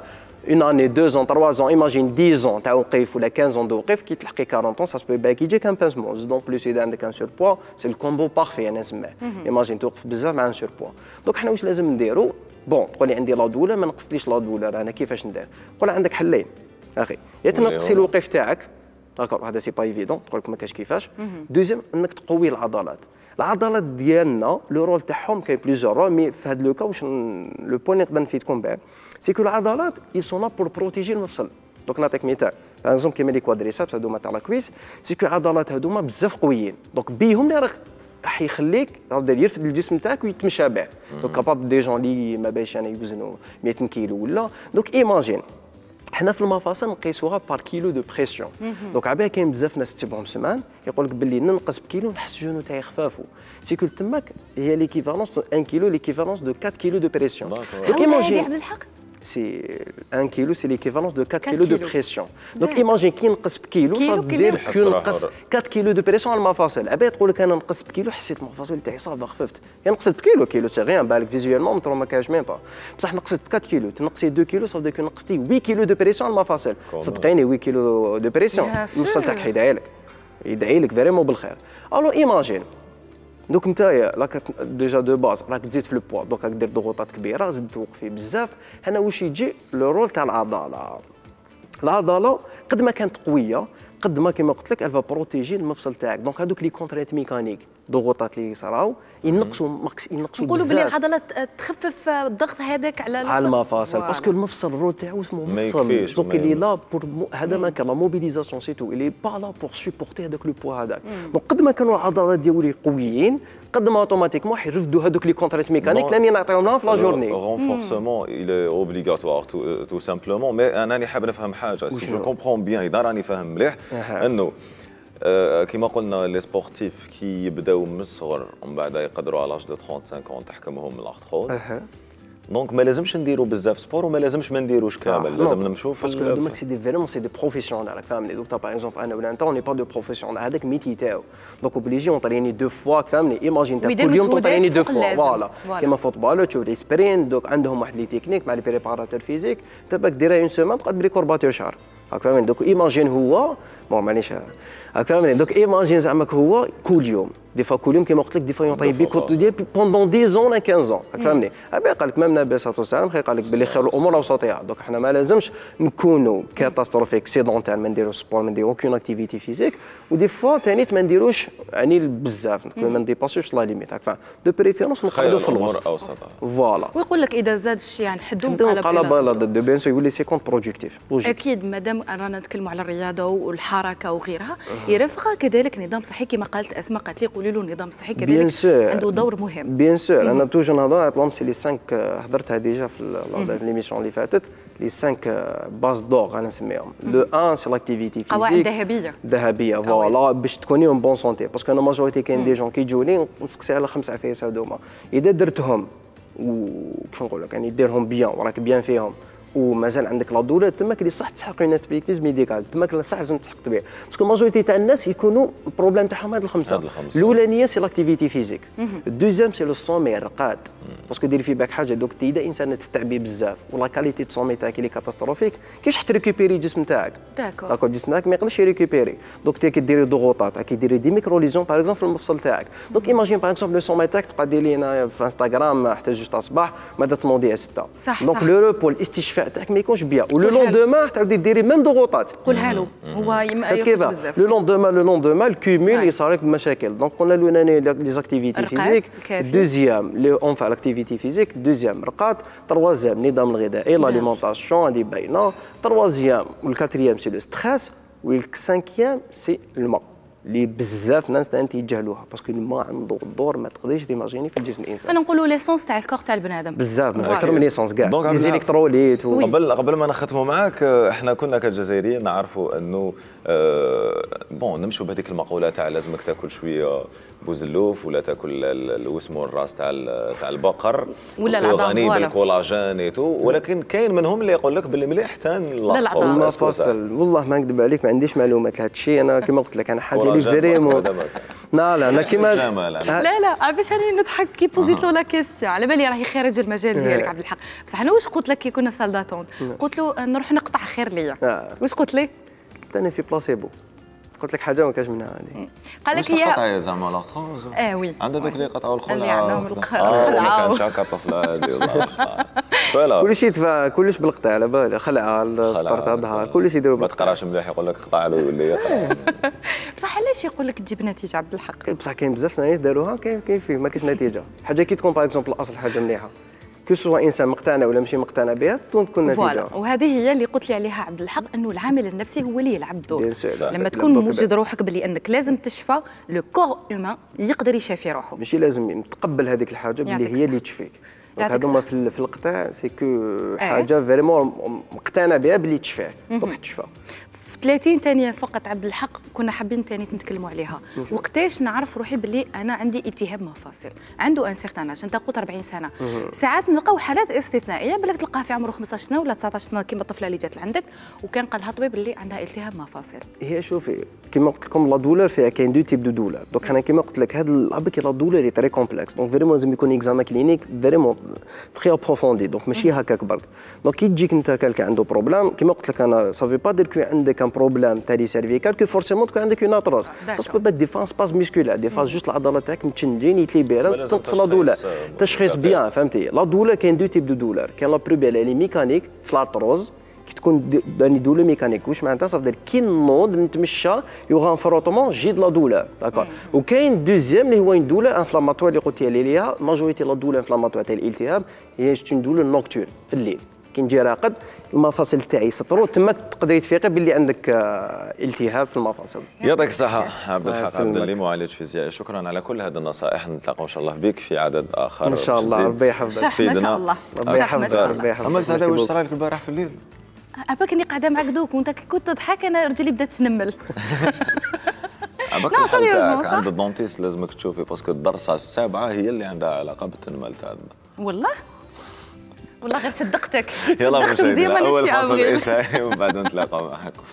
اون اني دو زون تروا زون ايماجين دix زون تاع وقيف ولا خمسة زون دو وقيف كي تلحقي أربعين زون سا سبو باك يجيك ان بانسمون زدون بلوس اذا عندك ان سور بوا سي الكومبو بارفي انا نسميه ايماجين توقف بزاف مع ان سور بوا دونك حنا واش لازم نديرو بون تقول لي عندي لا دولار ما نقصتليش لا دولار انا كيفاش ندير نقول عندك حلين اخي يا تنقصي الوقيف تاعك داكور هذا سي با ايفيدون تقول لك ما كاش كيفاش دوزيام انك تقوي العضلات العضلات ديالنا لو رول تاعهم كاين بليزيور رول مي في هذا لو كا واش لو بوين نقدر نفيدكم به سي كو العضلات اي سون لا بور بروتيجي المفصل دونك نعطيك مثال باغ اكزومبل كيما لي كوادريسابس هذوما تاع لا كويس سي كو العضلات هذوما بزاف قويين دونك بيهم اللي راك راح يخليك تقدر يرفد الجسم تاعك ويتمشى به دونك كاباب دي جون اللي ما باش يعني يوزنوا مية كيلو ولا دونك ايماجين حنا في المفاصل نقيسوها بار كيلو دو بريسيون دونك عباها كاين بزاف ناس تتبعهم سمان يقول لك باللي ننقص بكيلو نحس جونو تاعي خفافو سيكو تماك هي ليكيفالونس واحد كيلو ليكيفالونس دو أربعة كيلو دو بريسيون دونك ايماجين عبد الحق سي واحد كيلو سي ليكيفالونس دو أربعة كيلو دو بريسيون دونك ايماجين كي نقص بكيلو صافي دير كي نقص أربعة كيلو دو بريسيون على المفاصل عباها تقول لك انا نقص بكيلو حسيت المفاصل تاعي صافي خففت يعني نقصت بكيلو كيلو سي غيان بالك فيزيوالمون ما كاينش ميم با بصح نقصت ب أربعة كيلو تنقصي اثنين كيلو صافي ديك نقصتي ثمانية كيلو دو بريسيون على المفاصل صدقيني ثمانية كيلو دو بريسيون المفصل تاعك حيدعي لك يدعي لك فريمون بالخير الو ايماجين دوك نتايا راك ديجا دو باز راك تزيد في البوا دونك راك دير ضغوطات كبيره زد توقفي بزاف هنا واش يجي لو رول تاع العضله العضله قد ما كانت قويه قد ما كما قلت لك الفا بروتيجي المفصل تاعك دونك هذوك لي كونترينت ميكانيك ضغوطات اللي صراو ينقصوا ماكس ينقصوا نقولوا بلي العضله تخفف الضغط هذاك على على المفاصل باسكو المفصل الرول تاعو اسمه مفصل دونك اللي لا بور هذا ما كان لا موبيليزاسيون سي تو اللي با لا بور سوبورتي هذاك لو بوا هذاك دونك قد ما كانوا العضلات ديالي قويين قد ما اوتوماتيكمون حيرفدوا هذوك لي كونترينت ميكانيك لاني نعطيهم لهم في لا جورني رونفورسمون il est obligatoire tout simplement mais انا حاب نفهم حاجه سي جو كومبرون بيان اذا راني فاهم مليح انه كما قلنا لي سبورتيف كي يبداو من الصغر ومن بعد يقدروا على لاج دو خمسة وثلاثين تحكمهم الارثروز دونك ما لازمش نديروا بزاف سبور وما لازمش ما نديروش كامل لازم نمشوا في باسكو هذوما سي دي فريمون سي دي بروفيسيونال راك فاهمني دونك باغ اكزومبل انا ولا انت اوني با دو بروفيسيونال هذاك ميتي تاعو دونك اوبليجي اونطريني دو فوا فهمني ايماجين تاع كل يوم تونطريني دو فوا فوالا كيما فوتبال تشوف لي سبرين دونك عندهم واحد لي تكنيك مع لي بريباراتور فيزيك تباك ديرها اون سيمين تقعد بلي كورباتور شهر راك فاهمين دونك ايماجين هو بون معليش راك فاهمين دونك ايماجين زعما هو كل يوم دي فوا كل يوم كيما قلت لك دي فوا يعطي بي كوتيديان بوندون دix زون ولا خمسة زون راك فاهمني ابي قال لك ميم النبي صلى الله عليه وسلم قال لك بلي خير الامور اوسطها دونك حنا ما لازمش نكونوا كاتاستروفيك سيدونتير ما نديروش سبور ما نديرو اوكين اكتيفيتي فيزيك ودي فوا ثاني ما نديروش يعني بزاف ما نديباسيوش لا ليميت راك فاهم دو بريفيرونس نقعدوا في الوسط فوالا ويقول لك اذا زاد الشيء يعني حدهم على بالا دو بيان سو يقول لي سي كونت برودكتيف اكيد مادام رانا نتكلموا على الرياضه والحركه وغيرها يرافقها كذلك نظام صحي كما قالت اسماء قالت لي قولي له نظام صحي كذلك عنده دور مهم بيان سور انا توجور نهضر على سي لي خمسة حضرتها ديجا في ليميسيون اللي فاتت لي خمسة باز دور انا نسميهم لو واحد سي لاكتيفيتي فيزيك قواعد ذهبيه ذهبيه فوالا باش تكوني اون بون سونتي باسكو انا ماجوريتي كاين دي جون كيجوني نسقسي على خمس عفايس هذوما اذا درتهم وكش نقول لك يعني ديرهم بيان وراك بيان فيهم ومازال عندك لا دولار تماك اللي صح تسحق اون اسبيكتيز ميديكال تماك صح لازم تحقق بها باسكو ماجوريتي تاع الناس يكونوا البروبليم تاعهم هاد الخمسه الاولانيه سي لاكتيفيتي فيزيك الدوزيام سي لو سومي الرقاد باسكو ديري في بالك حاجه دوك اذا انسان تتعبي بزاف ولا كاليتي دو سومي تاعك اللي كاتاستروفيك كيفاش تريكوبيري الجسم تاعك داكور داكور الجسم تاعك ما يقدرش يريكوبيري دونك تي كديري ضغوطات كيديري دي ميكرو ليزون باغ اكزومبل في المفصل تاعك دونك ايماجين باغ اكزومبل لو سومي تاعك تبقى ديري هنا في انستغرام حتى جوج تاع الصباح ماذا تموندي ستة دونك لو روبو الاستشفاء تاعك ما يكونش بيان ولو لوندومان تعاودي ديري ميم ضغوطات قولها له هو يرقد بزاف لو لوندومان لو لوندومان الكومول يصير لك بمشاكل دونك قلنا الاولاني لي زاكتيفيتي فيزيك دوزيام لي اون فا لاكتيفيتي فيزيك دوزيام رقاد تروازيام النظام الغذائي لاليمونطاسيون هذه باينه تروازيام والكاتريام سي لو ستريس والسانكيام سي الماء اللي بزاف ناس تيجهلوها باسكو الماء عنده دور ما تقدريش تيماجيني في الجسم الانسان انا نقولوا ليسونس تاع الكور تاع البنادم بزاف اكثر من ليسونس كاع لي زيليكتروليت قبل قبل ما نختموا معاك احنا كنا كجزائريين نعرفوا انه أه بون نمشوا بهذيك المقوله تاع لازمك تاكل شويه بوزلوف ولا تاكل واسمه الراس تاع تاع البقر ولا العظام غني بالكولاجين ايتو ولكن كاين منهم اللي يقول لك باللي مليح حتى العظام والله ما نكذب عليك ما عنديش معلومات لهذا الشيء انا كما قلت لك انا حاجه اللي فريمون لا لا انا كيما لا لا علاش راني نضحك كي بوزيت له لا كيستيون على بالي راهي خارج المجال ديالك عبد الحق بصح انا واش قلت لك كي كنا في سال داتونت قلت له نروح نقطع خير ليا واش قلت لي استنى في بلاسيبو قلت لك حاجه ما كاش منها هذه قال لك يا قطعه زعما لاطخوز اه وي عندها دوك اللي قطعوا الخلعه اللي عندهم الخلعه ما كانش هكا طفله هذه والله كلشي يتفا كلش بالقطع على بالي خلعه السطر تاع الظهر كلشي يديروا ما تقراش مليح يقول لك قطع له يولي يقرا بصح علاش يقول لك تجيب نتيجه عبد الحق بصح كاين بزاف ناس داروها كاين كاين فيه ما كاينش نتيجه حاجه كي تكون باغ اكزومبل الاصل حاجه مليحه كو سوا انسان مقتنع ولا ماشي مقتنع بها تكون نتيجه وهذه هي اللي قلت لي عليها عبد الحق انه العامل النفسي هو اللي يلعب دور لما تكون موجد روحك بلي انك لازم تشفى لو كور هيومان يقدر يشافي روحه ماشي لازم تقبل هذيك الحاجه بلي هي اللي تشفيك هذوما في القطاع سي كو حاجه فريمون مقتنع بها بلي تشفيه دونك تشفى ثلاثين ثانيه فقط عبد الحق كنا حابين ثاني نتكلموا عليها وقتاش نعرف روحي باللي انا عندي التهاب مفاصل عنده ان سيغتان اج انت قلت أربعين سنه ساعات نلقاو حالات استثنائيه بالك تلقاها في عمره خمسطاش سنه ولا تسعطاش سنه كيما الطفله اللي جات لعندك وكان قال لها الطبيب باللي عندها التهاب مفاصل هي شوفي كيما قلت لكم لا دولار فيها كاين دو تيب دو دولار دونك انا كيما قلت لك هذا العبك لا دولار اللي تري كومبلكس دونك فريمون لازم يكون اكزامان كلينيك فريمون تري ابروفوندي دونك ماشي هكاك برك دونك كي تجيك انت كالك عنده بروبليم كيما قلت لك انا صافي با دير كو عندك ان بروبليم تاع سيرفيكال كو فورسيمون تكون عندك اون اتروز سا سبو با دي فان سباس ميسكولار دي فاز جوست العضلات تاعك متشنجين يتليبيرا تنقص لا دولار تشخيص بيان فهمتي لا دولار كاين دو تيب دو دولار كاين لا بروبيل اللي ميكانيك في الارتروز كي تكون داني دوله ميكانيك واش معناتها صافي كي نوض نتمشى يوغا ان فروتمون جيد لا دولار داكور وكاين دوزيام اللي هو دوله انفلاماتوار اللي قلت لي ليها ماجوريتي لا دوله انفلاماتوار تاع الالتهاب هي اون دوله نوكتورن في الليل كي نجي راقد المفاصل تاعي يسطروا تما تقدري تفيقي باللي عندك التهاب في المفاصل. يعطيك الصحة عبد الحق عبد اللي معالج فيزيائي شكرا على كل هذه النصائح نتلاقاو ان شاء الله بك في عدد اخر ان شاء الله ربي يحفظك ما شاء الله ربي يحفظك ربي يحفظك. اما سعاده واش صرا لك البارح في الليل؟ اباك اني قاعده معك دوك وانت كنت تضحك انا رجلي بدات تنمل. عباك الحل تاعك عند الدونتيست لازمك تشوفي باسكو الضرسه السابعه هي اللي عندها علاقه بالتنمل تاعنا. والله؟ والله غير صدقتك. يلا مشاهدينا اول فصل اشاعي ومن بعد نتلاقاو معكم.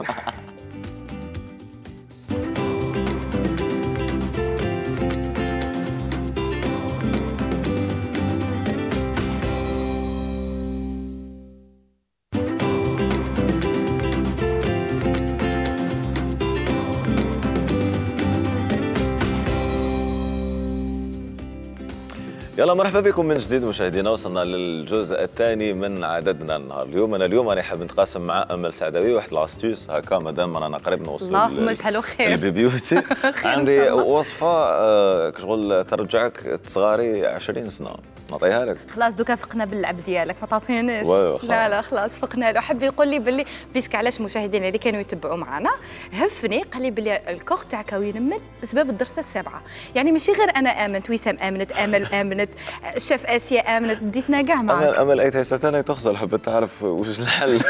يلا مرحبا بكم من جديد مشاهدينا وصلنا للجزء الثاني من عددنا النهار اليوم انا اليوم راني حاب نتقاسم مع امل سعداوي واحد لاستيوس هكا مادام رانا قريب نوصلوا اللهم اجعله خير البيبيوتي عندي وصفه كشغل ترجعك تصغاري عشرين سنه نعطيها لك خلاص دوكا فقنا باللعب ديالك ما تعطيناش لا لا خلاص فقنا له حب يقول لي باللي بيسك علاش مشاهدينا اللي كانوا يتبعوا معنا هفني قال لي باللي الكوخ تاعك ينمل بسبب الدرسه السابعه يعني ماشي غير انا امنت وسام امنت امل امنت الشيف اسيا امنت ديتنا كاع معاك امل امل اي ثاني تغسل حبيت تعرف واش الحل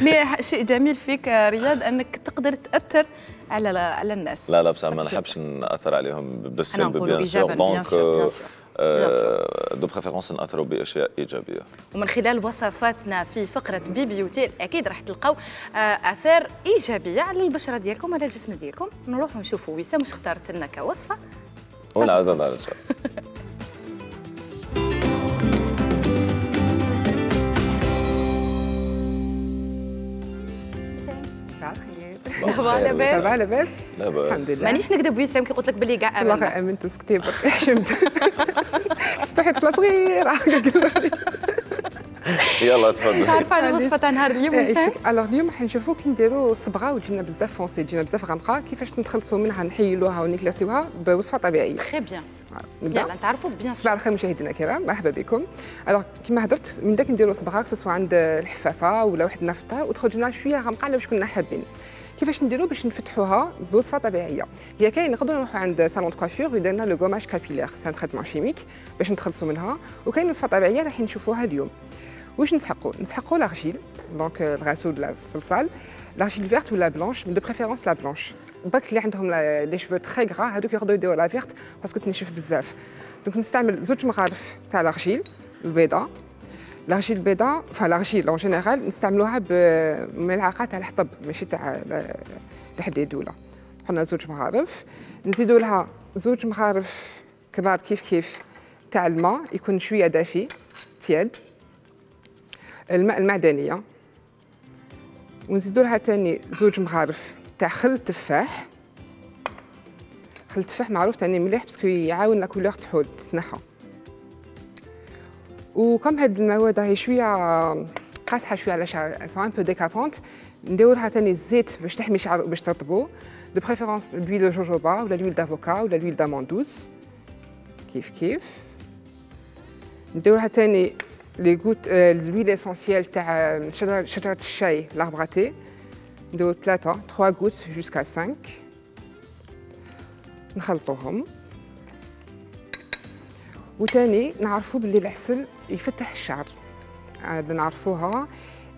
مي شيء جميل فيك رياض انك تقدر تاثر على على الناس لا لا بصح ما نحبش ناثر عليهم بالسلب بيان سور دونك دو بريفيرونس ناثروا باشياء ايجابيه ومن خلال وصفاتنا في فقره بي بيوتي اكيد راح تلقاو اثار ايجابيه على البشره ديالكم على الجسم ديالكم نروحوا نشوفوا وسام واش اختارت لنا كوصفه ونعاودوا نرجع صباح لاباس صباح لاباس لاباس الحمد لله مانيش نكذب وسام كي قلت لك بلي كاع امنت والله امنت وسكتي برك حشمت حسيت واحد طفله صغيره يلا تفضل عارفه على الوصفه تاع نهار اليوم وسام الوغ اليوم حنشوفوا كي نديروا الصبغه وتجينا بزاف فونسي تجينا بزاف غامقه كيفاش نتخلصوا منها نحيلوها ونكلاسيوها بوصفه طبيعيه تري بيان نبدا يلا نتعرفوا بيان صباح الخير مشاهدينا الكرام مرحبا بكم الوغ كيما هضرت من داك نديروا صبغه سواء عند الحفافه ولا واحد النفطه وتخرج لنا شويه غامقه على واش كنا حابين كيفاش نديروا باش نفتحوها بوصفه طبيعيه هي كاين نقدروا نروحوا عند صالون دو كوافير ويدير لنا لو غوماج كابيلير سان تريتمون شيميك باش نتخلصوا منها وكاين وصفه طبيعيه راح نشوفوها اليوم واش نسحقوا نسحقوا لارجيل دونك الغاسول ولا الصلصال لارجيل فيرت ولا بلانش من دو بريفيرونس لا بلانش برك اللي عندهم لي شفو تري غرا هذوك يقدروا يديروا لا فيرت باسكو تنشف بزاف دونك نستعمل زوج مغارف تاع لارجيل البيضاء لارجيل البيضاء فلارجيل اون جينيرال نستعملوها بملعقه تاع الحطب ماشي تاع الحديد ولا. قلنا زوج مغارف، نزيدوا لها زوج مغارف كبار كيف كيف تاع الماء يكون شويه دافي تياد، الماء المعدنيه، ونزيدوا لها ثاني زوج مغارف تاع خل التفاح. خل التفاح معروف تاني مليح باسكو يعاون لا كولور تحول تتنحى. وكم هاد المواد راهي شويه قاصحه شويه على شعر سو ان بو ديكابونت، نديرو لها ثاني الزيت باش تحمي شعر باش ترطبو، دو بريفيرونس لويل دو جوجوبا ولا لويل دافوكا ولا لويل داموندوس كيف كيف. نديرو لها ثاني لي غوت لويل اسونسيال تاع شجره الشاي لاربراتي، نديرو ثلاثه ثلاثة غوت جوسكا خمسة، نخلطوهم. وثاني نعرفوا باللي العسل يفتح الشعر، هذا نعرفوها.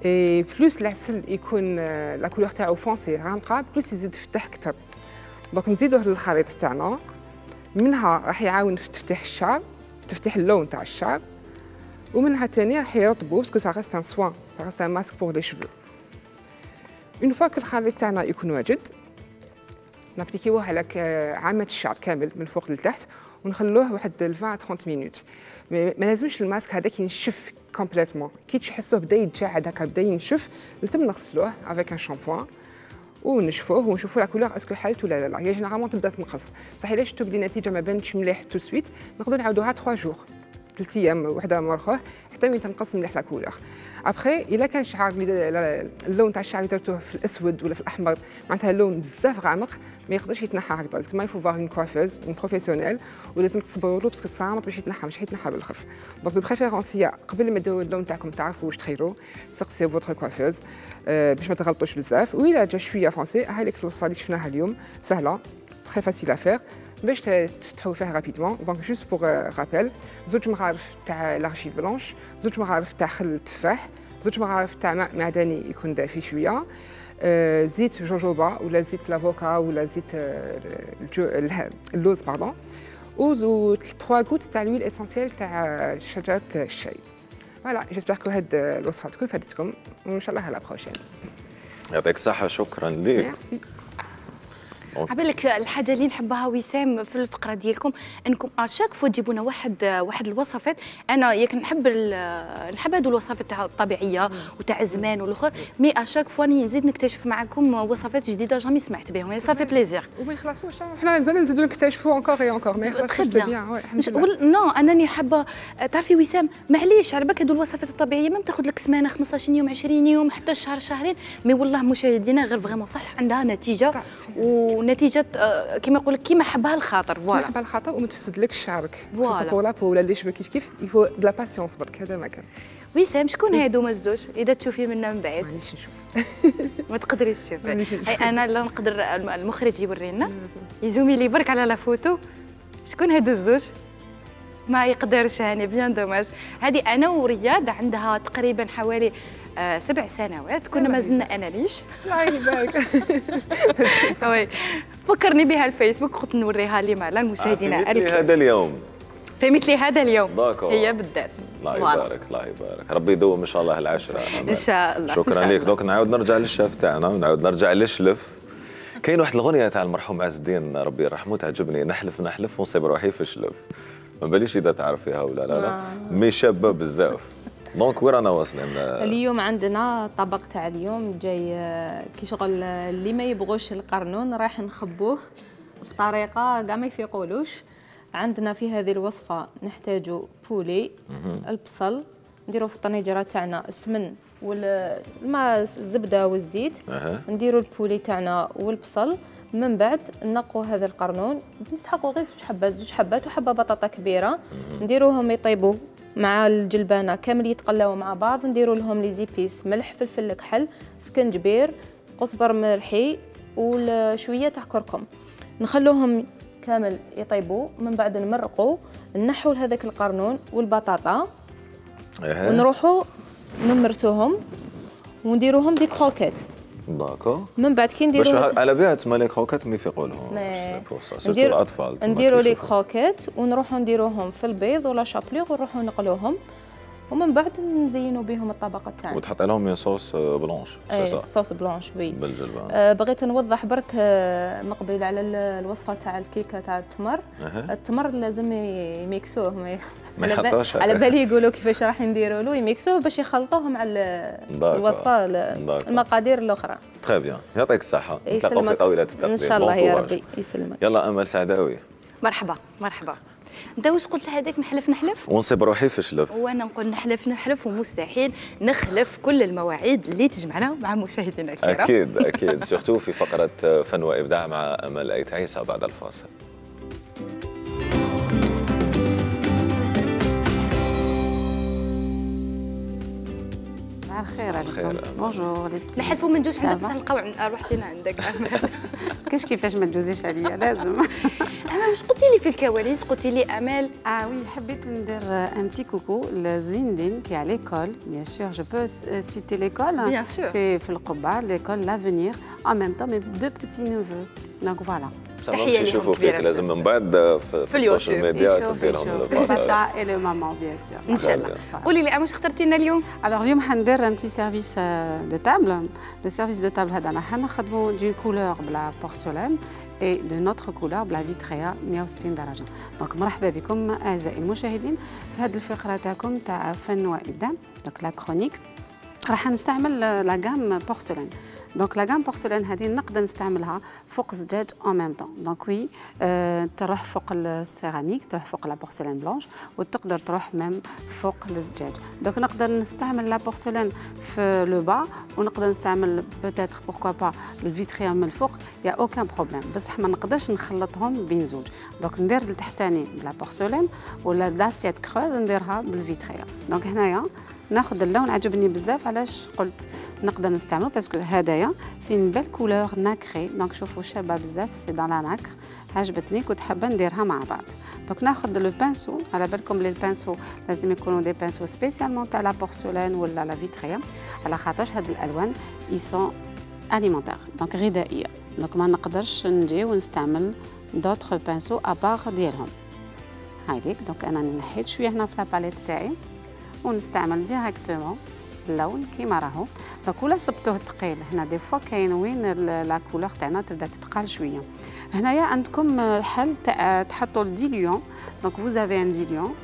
اي بلوس العسل يكون لا كولور تاعو فونسي غامقه بلوس يزيد يفتح اكثر. دونك نزيدوه للخليط تاعنا، منها راح يعاون في تفتيح الشعر، تفتيح اللون تاع الشعر، ومنها ثاني راح يرطبو باسكو سا ريست ان سوان، سا ريست ان ماسك بور لي شيفو. اون فوا كو الخليط تاعنا يكون واجد، نابليكيوه على عامة الشعر كامل من فوق لتحت ونخلوه واحد عشرين ثلاثين مينوت. ما لازمش الماسك هذاك ينشف كومبليتمون، كي تحسوه بدا يتجعد هكا بدا ينشف نتم نغسلوه افيك ان شامبوان ونشفوه ونشوفوا لا كولور اسكو حالت ولا لا. هي جينيرالمون تبدا تنقص، بصح الا شفتوا بلي النتيجه ما بانتش مليح تو سويت نقدروا نعاودوها ثلاثة جور، ثلاث ايام وحده مور اخر حتى وين تنقص مليح لا كولور. ابخي الا كان شعر اللون تاع الشعر اللي درتوه في الاسود ولا في الاحمر معناتها اللون بزاف غامق ما يقدرش يتنحى هكذا، تما يفو فار اون كوافوز اون بروفيسيونيل ولازم تصبروا له باسكو صامت باش يتنحى مش حيتنحى بالخف. دونك دو بريفيرونس هي قبل ما ديروا اللون تاعكم تعرفوا واش تخيروا سقسيو فوتر كوافوز باش ما تغلطوش بزاف. وإلا جا شويه فونسي هاي لك الوصفه اللي شفناها اليوم سهله تري فاسيل افير باش تفتحوا فيها رابيدمون. دونك جوست بوغ رابيل زوج مغارف تاع لارجي بلونش، زوج مغارف تاع خل التفاح، زوج مغارف تاع ماء معدني يكون دافي شويه، آه زيت جوجوبا ولا زيت لافوكا ولا زيت آه اللوز باردون، و ثلاثة غوت تاع الويل اسونسيال تاع شجره الشاي. فوالا جيسبر كو هاد الوصفه تكون فادتكم وان شاء الله على بروشين. يعطيك الصحه، شكرا لك. ميرسي. عبالك الحاجه اللي نحبها وسام في الفقره ديالكم انكم اشاك فوا تجيبوا لنا واحد واحد الوصفات. انا ياك نحب نحب هذو الوصفات تاع الطبيعيه وتاع الزمان والاخر، مي اشاك فوا نزيد نكتشف معكم وصفات جديده جامي سمعت بهم، صافي بليزير. وما يخلصوش حنا مازال نزيدو نكتشفوا انكور اي انكور، ما يخلصش سي بيان. الحمد لله. نو انني حابه تعرفي وسام معليش على بالك هذو الوصفات الطبيعيه ما بتاخذ لك سمانه خمسطاش يوم عشرين يوم حتى شهر شهرين، مي والله مشاهدينا غير فريمون صح عندها نتيجه ونتيجه كيما يقول لك كيما حبها الخاطر. فوالا حبها الخاطر وما تفسدلكش شعرك خصوصا بور لا بو ولا لي شبو كيف كيف يفو د لا باسيونس برك. هذا ما كان. وسام شكون هادوما الزوج اذا تشوفي منا من بعيد؟ مانيش نشوف. ما تقدريش تشوفي. انا لا نقدر المخرج يوري لنا يزومي لي برك على لا فوتو. شكون هادو الزوج؟ ما يقدرش هاني بيان دوماج. هذه انا ورياض عندها تقريبا حوالي آه سبع سنوات كنا مازلنا انا ليش الله يبارك. وي فكرني بها الفيسبوك قلت نوريها لي مع المشاهدين. في مثل هذا اليوم في مثل هذا اليوم داكو. هي بالذات. الله يبارك الله يبارك، ربي يدوم ان شاء الله العشره. ان شاء الله. شكرا لك. دوك نعاود نرجع للشيف تاعنا ونعاود نرجع للشلف. كاين واحد الغنيه تاع المرحوم عز الدين ربي يرحمه تعجبني، نحلف نحلف ونصيب روحي في الشلف. ما باليش اذا تعرفيها ولا لا. لا مي شابه بزاف. دونك وين رانا واصلين؟ اليوم عندنا الطبق تاع اليوم جاي كي شغل اللي ما يبغوش القرنون راح نخبوه بطريقه كاع ما يفيقولوش. عندنا في هذه الوصفه نحتاجوا بولي، البصل، نديروا في الطنجره تاعنا السمن والماء الزبده والزيت، أه. نديروا البولي تاعنا والبصل، من بعد نقوا هذا القرنون نسحقوا غير زوج حبات زوج حبات وحبه بطاطا كبيره، نديروهم يطيبوا مع الجلبانه كامل يتقلاو مع بعض، نديروا لهم لي زيبيس ملح فلفل كحل سكنجبير قزبر مرحي وشويه تاع كركم، نخلوهم كامل يطيبوا، من بعد نمرقوا نحوا هذاك القرنون والبطاطا أه. ونروحوا نمرسوهم ونديروهم دي كروكيت. داكو. من بعد كي نديروا باش على بها تسمى لي كروكيت ما يفيقولهم سيرتو الاطفال. نديروا لي كروكيت ونروحوا نديروهم في البيض ولا شابليغ ونروحوا نقلوهم ومن بعد نزينوا بهم الطبقه تاعنا. وتحط لهم صوص بلونش اي سي صوص بلونش وي بالجلبه. آه بغيت نوضح برك آه مقبل على الوصفه تاع الكيكه تاع التمر. أه. التمر لازم يميكسوه ما, ما يحطوش على بالي يقولوا كيفاش راح نديروا له يميكسوه باش يخلطوه مع الوصفه المقادير الاخرى. تري بيان يعطيك الصحه. نتلاقاو في طاوله التقديم ان شاء الله يا ربي يسلمك. يلا امل سعداوي. مرحبا مرحبا. انت واش قلت هذاك نحلف نحلف ونصيب روحي في شلف وانا نقول نحلف نحلف ومستحيل نخلف كل المواعيد اللي تجمعنا مع مشاهدينا الكرام. اكيد اكيد سورتو في فقره فن وابداع مع امل ايت عيسى بعد الفاصل. الخير عليكم. بونجور ليكيب. نحلفوا ما ندوش عندك بصح نلقاو روحتينا عندك امل. كاش كيفاش ما تجوزيش عليا لازم. امل واش قلتي لي في الكواليس؟ قلتي لي امل اه وي حبيت ندير ان تي كوكو لزيندين كي على ليكول بيان سور جو بو سيتي ليكول في في القبه ليكول لافونير ان ميم طون مي دو بيتي نوفو دونك فوالا. تحيه يشوفوا فيك لازم من بعد في, في السوشيال ميديا تدير لهم البابا اي لو مامون بيان سور ان شاء الله. قولي لي واش اخترتي لنا اليوم؟ الوغ اليوم حندير ان تي سيرفيس دو تابل. لو سيرفيس دو تابل هذا راح نخدموا دون كولور بلا بورسلان اي دو نوتر كولور بلا فيتريا مية وستين درجه. دونك مرحبا بكم اعزائي المشاهدين في هذه الفقره تاعكم تاع فن وابداع. دونك لا كرونيك راح نستعمل لا غام بورسلان. دونك لا غام بورسلان هذه نقدر نستعملها فوق الزجاج اون ميم طون. دونك وي أه تروح فوق السيراميك تروح فوق لا بورسلان بلونش وتقدر تروح ميم فوق الزجاج. دونك نقدر نستعمل لا بورسلان في لو با ونقدر نستعمل بوتيتر بوركوا با الفيتريا من الفوق يا اوكان بروبليم بصح ما نقدرش نخلطهم بين زوج. دونك ندير التحتاني بلا بورسلان ولا لاسيات كروز نديرها بالفيتريا. دونك هنايا ناخذ اللون عجبني بزاف علاش قلت نقدر نستعملو باسكو هدايا سي اون بيل كولور ناكري. دونك شوفوا شابه بزاف سي دون لا ناكر عجبتني كنت حابه نديرها مع بعض. دونك ناخذ لو بانسو على بالكم لي البانسو لازم يكونوا دي بانسو سبيسيالمون تاع لا بورسلان ولا لا فيتريا على خاطرش هاد الالوان يسون اليمونتير دونك غذائيه. دونك ما نقدرش نجي ونستعمل دوطخ بانسو ابار ديالهم هايديك. دونك انا نحيت شويه هنا في لاباليت تاعي ونستعمل ديريكتومون اللون كيما راهو. دونك ولا صبتوه ثقيل هنا دي فوا كاين وين لا كولور تاعنا تبدا تتقال شويه. هنايا عندكم الحل تاع تحطوا الديليون. دونك فوزافي ان ديليون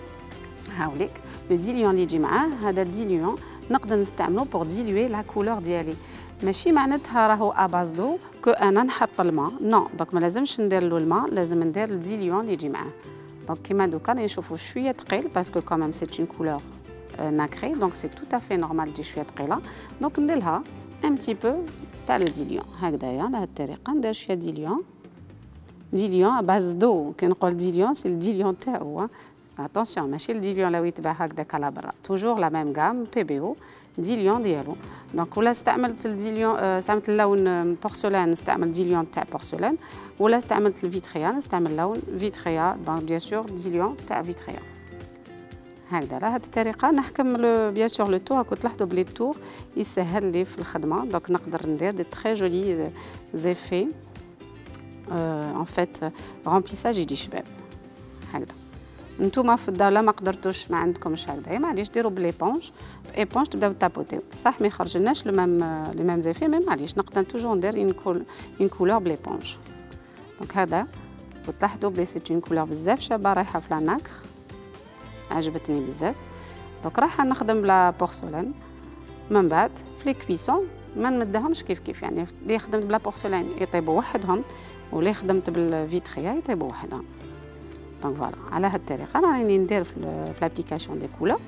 هاوليك لو ديليون اللي يجي معاه هذا الديليون نقدر نستعملو بور ديلوي لا كولور ديالي. ماشي معناتها راهو اباز دو كو انا نحط الماء نو. دونك ما لازمش ندير له الماء لازم ندير الديليون اللي يجي معاه. دونك كيما دوكا نشوفوا شويه ثقيل باسكو كوميم سي اون كولور ناكري دونك سي تو افي نورمال تجي شويه ثقيله. دونك نديرها ان بتي بو تاع لو ديليون هكذايا على هذه الطريقه ندير شويه ديليون ديليون باز دو. كي نقول ديليون سي الديليون تاعو اتونسيون ماشي الديليون لو يتباع هكذاك على برا توجور لا ميم غام بي بي او ديليون ديالو. دونك ولا استعملت الديليون استعملت اللون بورسلان نستعمل ديليون تاع بورسلان ولا استعملت الفيتريا نستعمل لون فيتريا. دونك بيان سور ديليون تاع فيتريا هكذا على هذه الطريقه نحكم بيان سور لو تور. راكم تلاحظوا بلي التور يسهل لي في الخدمه. دونك نقدر ندير دي تري جولي زيفي ان فيت رومبليساج يجي شباب هكذا. نتوما في الدار لا ما قدرتوش ما عندكمش هكذا معليش ديروا بليبونج ايبونج تبداو تابوتيو صح ما يخرجلناش لو ميم لي ميم زيفي مي معليش نقدر توجور ندير اون كول اون كولور بليبونج. دونك هذا وتلاحظوا بلي سي اون كولور بزاف شابه رايحه في لا ناكر عجبتني بزاف. دونك راح نخدم بلا بورسلان من بعد في لي كويسون ما نمدهمش كيف كيف يعني اللي خدمت بلا بورسلان يطيبوا وحدهم واللي خدمت بالفيتريا يطيبوا وحدهم. دونك فوالا على هذه الطريقه انا راني ندير في لابليكاسيون دي كولور.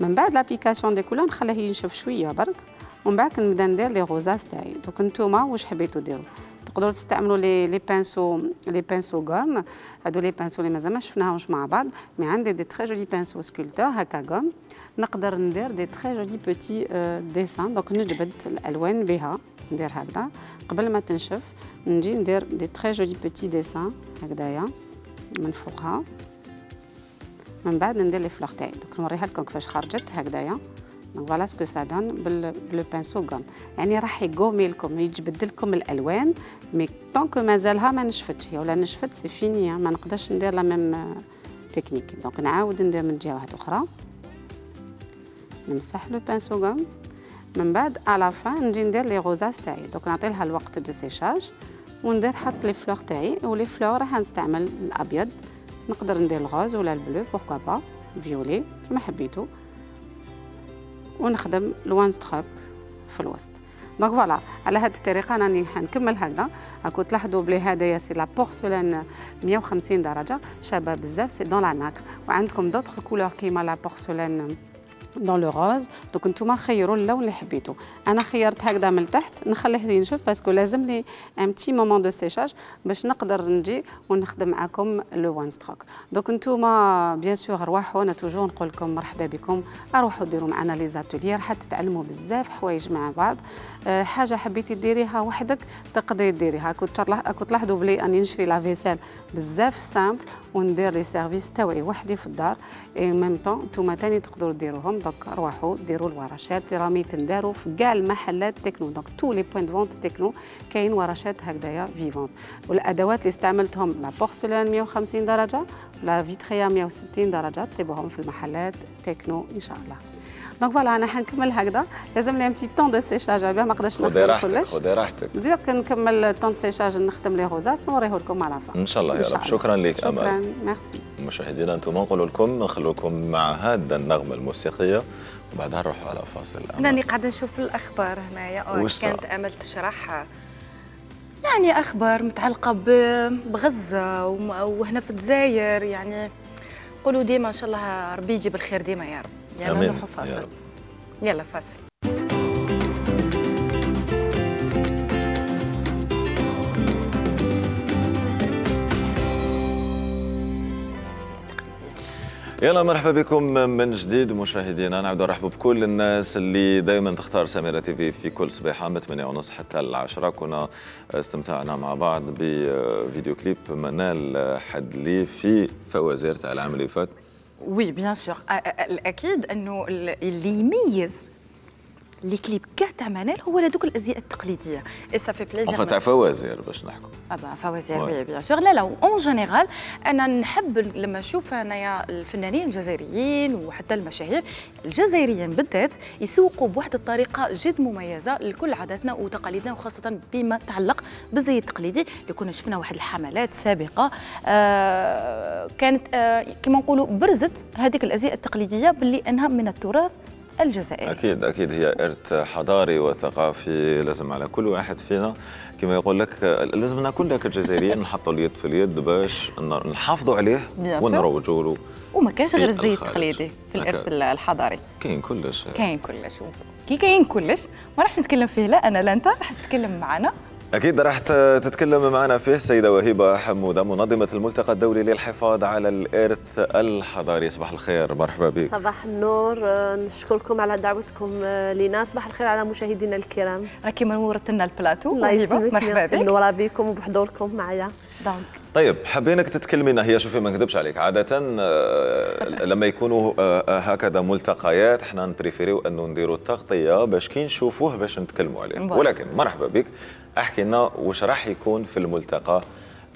من بعد لابليكاسيون دي كولور نخليه ينشف شويه برك ومن بعد نبدا ندير لي غوزاز تاعي. دونك نتوما واش حبيتوا ديروا تقدروا تستعملوا لي لي بانسو لي بانسو غوم هادو لي بانسو اللي مازال ما شفناهمش مع بعض مي عندي دي تري جولي بانسو سكولتور هكا غوم نقدر ندير دي تري جولي بوتي ديسان. دونك نجبد الالوان بها ندير هكذا قبل ما تنشف نجي ندير دي تري جولي بوتي ديسان هكذايا من فوقها. من بعد ندير لي فلور تاعي. دونك نوريها لكم كيفاش خرجت هكذايا. دونك فوالا سكو سا دون بلو بانسو غوم يعني راح يقومي لكم يجبد لكم الالوان مي طونك مازالها ما نشفتش هي ولا نشفت سي فيني ما نقدرش ندير لا ميم تكنيك. دونك نعاود ندير من جهه واحده اخرى نمسح لو بانسو غوم من بعد على فان نجي ندير لي غوزاس تاعي. دوك نعطي لها الوقت دو سيشاج وندير حط لي فلور تاعي. ولي فلور راح نستعمل الابيض، نقدر ندير الغوز ولا البلو بوركوا با فيولي كيما حبيتو، ونخدم الوان ستروك في الوسط. دونك فوالا على هذه الطريقه راني حنكمل هكذا. راكو تلاحظوا بلي هدايا سي لا بورسلان مية وخمسين درجه شابه بزاف، سي دون لا ناكر. وعندكم دوطخ كولور كيما لا بورسلان دون لو روز. دوك نتوما خيروا اللون اللي حبيتو. انا خيرت هكذا من التحت، نخليه ينشف باسكو لازم لي ان بتي مومون دو سيشاج باش نقدر نجي ونخدم معكم لو وان ستروك. دوك نتوما بيان سور رواحوا، انا توجور نقول لكم مرحبا بكم، اروحوا ديروا معنا لي زاتوليير حتى تتعلموا بزاف حوايج مع بعض. أه حاجه حبيتي ديريها وحدك تقدري ديريها. كنت كنت تلاحظوا بلي اني نشري لا فيسيل بزاف سامبل وندير لي سيرفيس تاوعي وحدي في الدار اي ميم طون نتوما ثاني تقدروا ديروهم. دونك روحوا ديروا الورشات اللي راهم يتنداروا في كاع المحلات تكنو. دونك تو لي بوين دو فونت تكنو كاين ورشات هكذايا فيفونت. والادوات اللي استعملتهم لا بورسلان مية وخمسين درجه، لا فيتريا مية وستين درجه، تسيبوهم في المحلات تكنو ان شاء الله. دونك فوالا انا حنكمل هكذا. لازم لي بتي طون دو سيشاج باه ما نقدرش نخدم كلش. خذي راحتك. دوك نكمل طون سيشاج نخدم لي غوزات ونوريه لكم على فا ان شاء الله يا رب. شكرا لك امل. شكرا ميرسي. مشاهدينا انتم نقول لكم نخلو لكم مع هذا النغمه الموسيقيه وبعدها نروحوا على فاصل. راني قاعده نشوف الاخبار هنايا كانت امل تشرح يعني اخبار متعلقه بغزه وهنا في الجزائر. يعني قولوا ديما ان شاء الله ربي يجيب الخير ديما يا رب. يلا نروحوا فاصل. يلا فاصل. يلا مرحبا بكم من جديد مشاهدينا. نعود نرحب بكل الناس اللي دائما تختار سميرة تيفي في كل صباحة من ثمانية ونص حتى العشرة. كنا استمتعنا مع بعض بفيديو كليب منال حدلي في فوازير تاع العام اللي فات. وي بيان سور. الاكيد انه اللي يميز لي كليب كاع تاع منال هو هذوك الازياء التقليديه. اي سافي بليزير. اون تاع فوازير باش نحكوا. ابا فوازير وي بيان سور. لا لا اون جينيرال انا نحب لما نشوف انايا الفنانين الجزائريين وحتى المشاهير الجزائريين بالذات يسوقوا بواحد الطريقه جد مميزه لكل عاداتنا وتقاليدنا، وخاصه بما يتعلق بالزي التقليدي اللي كنا شفنا واحد الحملات سابقه آه كانت آه كما نقولوا برزت هذيك الازياء التقليديه باللي انها من التراث الجزائري. اكيد اكيد هي ارث حضاري وثقافي لازم على كل واحد فينا كما يقول لك لازمنا كلنا كجزائريين نحطوا اليد في اليد باش نحافظوا عليه ونروجوا له. وما كانش غير الزي التقليدي في الارث الحضاري، كاين كلش كاين كلش. كي كاين كلش ما راحش نتكلم فيه لا انا لا انت، راح تتكلم معنا. أكيد راح تتكلم معنا فيه السيدة وهبة حمودة منظمة الملتقى الدولي للحفاظ على الإرث الحضاري. صباح الخير، مرحبا بك. صباح النور، نشكركم على دعوتكم لنا. صباح الخير على مشاهدينا الكرام. راكي منورت لنا البلاتو. الله يسلمك، مرحبا بك. منورة بكم وبحضوركم معايا. دونك طيب حابينك تتكلمينا. هي شوفي ما نكذبش عليك، عادة لما يكونوا هكذا ملتقيات احنا نبريفيريو انه نديروا التغطية باش كي نشوفوه باش نتكلموا عليه، ولكن مرحبا بك. احكي لنا واش راح يكون في الملتقى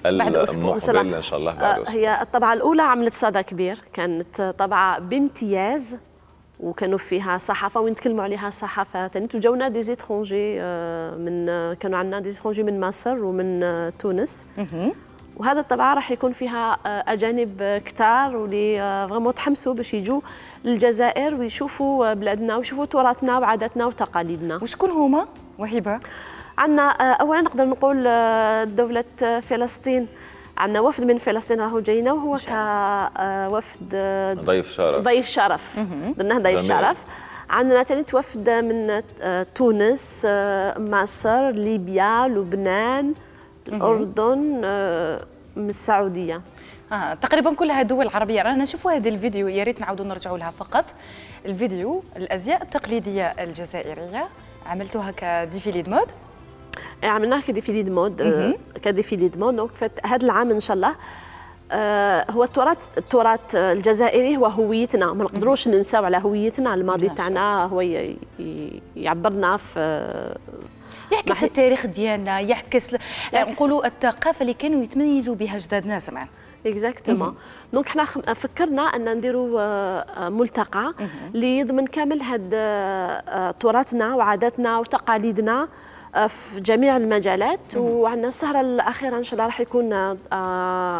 المقبل ان شاء الله بعد أسبوع. هي الطبعة الأولى عملت صدى كبير، كانت طبعة بامتياز وكانوا فيها صحافه ونتكلموا عليها الصحافه ثاني. وجاونا دي زيترونجي من كانوا عندنا دي زيترونجي من مصر ومن تونس، وهذا الطبعه راح يكون فيها اجانب كتار واللي فريمون تحمسوا باش يجوا للجزائر ويشوفوا بلادنا ويشوفوا تراثنا وعاداتنا وتقاليدنا. وشكون هما وهبه؟ عندنا اولا نقدر نقول دوله فلسطين، عندنا وفد من فلسطين راهو جاينا وهو كوفد ضيف شرف ضيف شرف درناه ضيف شرف. عندنا ثاني وفد من تونس، مصر، ليبيا، لبنان، الأردن، من السعودية. آه، تقريبا كلها دول عربية. رانا نشوفوا هذا الفيديو، يا ريت نعاودوا نرجعوا لها فقط. الفيديو الأزياء التقليدية الجزائرية عملتوها كديفيلي دو مود. عملناها كديفيلي دو مود كديفيلي دو مود. دونك هذا العام ان شاء الله آه هو التراث التراث الجزائري هو هويتنا، ما نقدروش ننساو على هويتنا. الماضي تاعنا هو يعبرنا في يعكس محي... التاريخ ديالنا، يعكس نقولوا الثقافه اللي كانوا يتميزوا بها جدادنا زمان. اكزاكتومون. دونك حنا فكرنا ان نديروا ملتقى اللي يضمن كامل هاد تراثنا وعاداتنا وتقاليدنا في جميع المجالات. وعندنا السهره الاخيره ان شاء الله راح يكون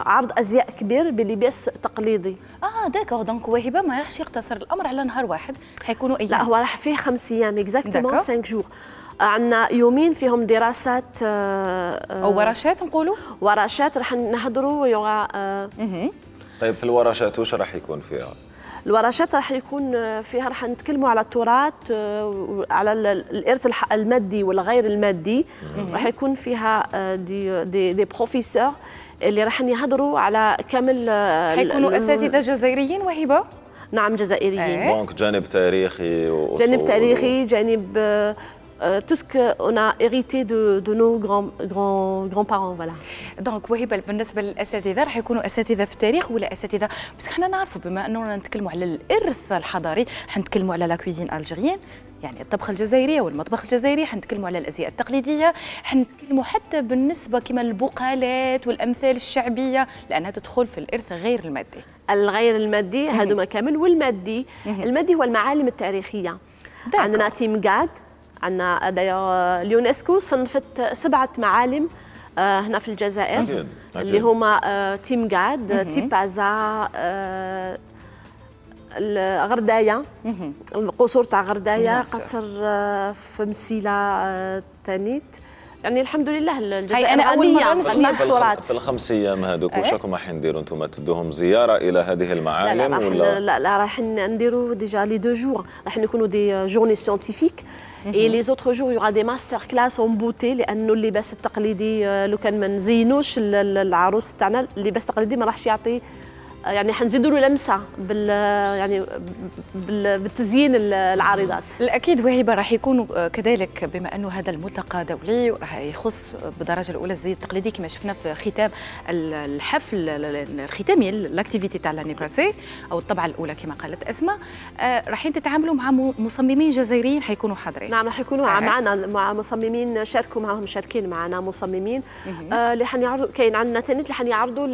عرض ازياء كبير بلباس تقليدي. اه داكور. دونك وهبه ما راحش يقتصر الامر على نهار واحد، حيكونوا ايام. لا هو راح فيه خمس ايام اكزاكتومون خمسة جور. عندنا يومين فيهم دراسات او ورشات نقولوا ورشات راح نهضروا يوغا. طيب في الورشات واش راح يكون فيها؟ الورشات راح يكون فيها راح نتكلموا على التراث على الارث المادي والغير المادي. راح يكون فيها دي دي, دي بروفيسور اللي راح يهضروا على كامل. حيكونوا اساتذه جزائريين وهبه؟ نعم جزائريين. دونك جانب تاريخي جانب تاريخي جانب Euh, tout ce qu'on a hérité de, de nos grands, grands, grands-parents, voilà. دونك وهبه بالنسبه للاساتذه راح يكونوا اساتذه في التاريخ ولا اساتذه، بس احنا نعرفوا بما اننا نتكلموا على الارث الحضاري حنتكلموا على لا كويزين الجيريان، يعني الطبخه الجزائريه والمطبخ الجزائري، حنتكلموا على الازياء التقليديه، حنتكلموا حتى بالنسبه كما البقالات والامثال الشعبيه لانها تدخل في الارث غير المادي. الغير المادي هذوما كامل، والمادي المادي هو المعالم التاريخيه. داكو. عندنا تيم قاد، عندنا دايوغ اليونسكو صنفت سبعه معالم آه هنا في الجزائر. أكيد. أكيد. اللي هما آه تيم قاد، تيبازا، آه غردايه، القصور تاع غردايه، قصر آه في مسيله آه تانيت. يعني الحمد لله الجزائر انا اول مره نسمع في, في الخمس ايام هذوك واش راكم راح نديروا انتم؟ تدوهم زياره الى هذه المعالم لا لا ولا لا لا راح نديروا ديجا لي دو جور، راح نكونوا دي جورني سيانتيفيك اي لي زوتر جور يوغا دي ماستر كلاس اون بوتي، لانه اللباس التقليدي لو كان ما نزينوش العروس تاعنا اللباس التقليدي ما راحش يعطي، يعني حنزيدوا له لمسه بال يعني بال بالتزيين العارضات. الاكيد وهبه راح يكونوا كذلك بما انه هذا الملتقى دولي وراح يخص بالدرجه الاولى الزي التقليدي كما شفنا في ختام الحفل الختامي لاكتيفيتي تاع لاني باسي او الطبعه الاولى كما قالت اسماء. آه راح تتعاملوا مع مصممين جزائريين حيكونوا حاضرين. نعم راح يكونوا آه. معنا مع مصممين شاركوا معهم شاركين معنا مصممين آه اللي حنعرضوا. كاين عندنا تانيت اللي حنعرضوا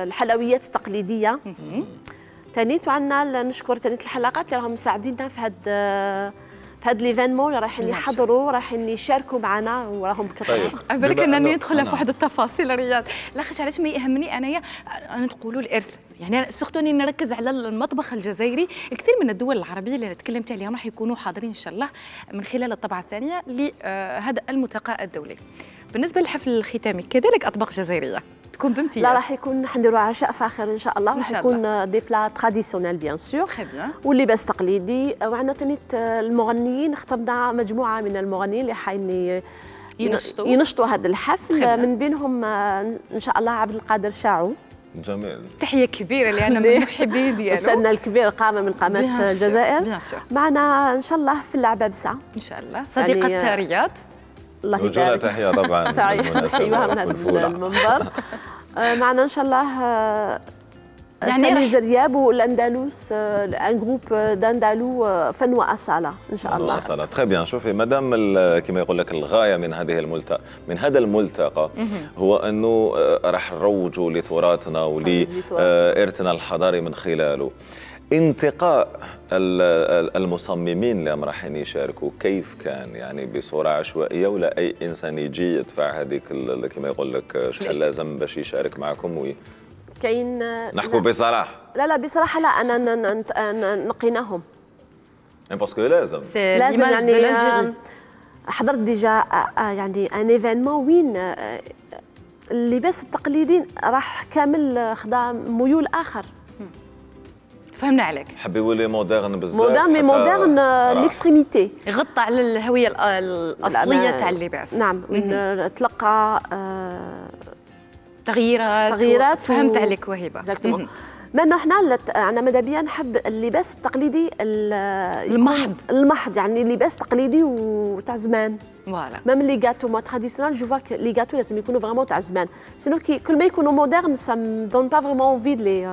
الحلويات التقليديه تانيت، وعندنا نشكر تانيت الحلقات اللي راهم مساعديننا في هذا في هذا ليفينمون اللي رايحين يحضروا رايحين يشاركوا معنا وراهم بكثره. طيب. بالك انني ندخل في واحد التفاصيل رياض لاخاطش علاش ما يهمني انايا انا تقولوا الارث، يعني سورتو اني نركز على المطبخ الجزائري. الكثير من الدول العربيه اللي تكلمت عليهم راح يكونوا حاضرين ان شاء الله من خلال الطبعه الثانيه لهذا الملتقى الدولي. بالنسبه للحفل الختامي كذلك اطباق جزائريه تكون بامتياز. لا راح يكون حنديروا عشاء فاخر ان شاء الله، راح يكون دي بلا تراديسيونيل بيان سور واللباس تقليدي. وعندنا تانيت المغنيين، اخترنا مجموعه من المغنيين اللي حين ينشطوا ينشطوا هذا الحفل خبنا. من بينهم ان شاء الله عبد القادر شاعو. جميل. تحيه كبيره اللي انا من محبين ديالو، استاذنا الكبير قامه من قامات الجزائر. معنا ان شاء الله في اللعبابسه ان شاء الله صديقه يعني رياض. الله يبارك. تحيه طبعا ايوه من هذا المنبر. معنا ان شاء الله يعني سامي زرياب والاندلس ان جروب داندالو فن واصاله ان شاء الله. واصاله تري بيان. شوفي مادام كما يقول لك الغايه من هذه الملتقى من هذا الملتقى هو انه راح نروجوا لتراثنا ولارثنا الحضاري من خلاله. انتقاء المصممين اللي راح يشاركوا كيف كان؟ يعني بصوره عشوائيه ولا اي انسان يجي يدفع هذيك كما يقول لك شحال لازم باش يشارك معكم وي كاين نحكوا بصراحه؟ لا لا بصراحه لا انا نقيناهم باسكو لازم لازم يعني حضرت ديجا يعني ان ايفينمون وين اللباس التقليدي راح كامل خدا ميول اخر. فهمنا عليك. حب يولي مودرن بزاف. مودرن مي مودرن ليكستريميتي. يغطى على الهويه الاصليه تاع اللباس. نعم نتلقى آه تغييرات تغييرات فهمت و... عليك وهبه. اكزاكتومون. ما حنا انا ماذا بيا نحب اللباس التقليدي المحض المحض يعني لباس تقليدي وتاع زمان. فوالا. ميم لي غاتو مو تراديسيونال جو فوا لي غاتو لازم يكونوا فريمون تاع زمان، سينو كي كل ما يكونوا مودرن سا دون با فريمون انفي لي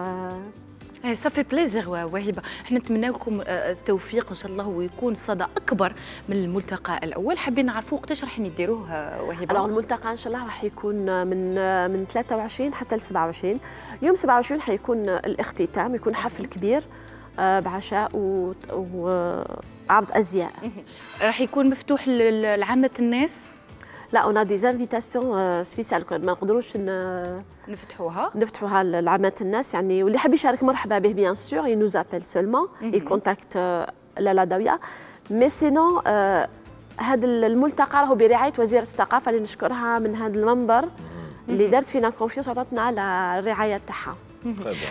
صافي بليزير وهبه، احنا نتمنى لكم التوفيق ان شاء الله ويكون صدى اكبر من الملتقى الاول. حابين نعرفوا وقتاش راح نديروه وهبه؟ alors الملتقى ان شاء الله راح يكون من من ثلاثة وعشرين حتى ل سبعة وعشرين. يوم سبعة وعشرين حيكون الاختتام، يكون حفل كبير بعشاء وعرض ازياء. راح يكون مفتوح لعامه الناس؟ لا اون ا دي انفيتاسيون سبيسيال ما نقدروش نفتحوها نفتحوها لعامه الناس يعني، واللي حاب يشارك مرحبا به بيان سور ي نوز ابل سولمون ي كونتاكت لالا داويه. مي سينون هذا الملتقى راهو برعايه وزيره الثقافه اللي نشكرها من هذا المنبر اللي دارت فينا كونفيونس وعطاتنا على الرعايه تاعها.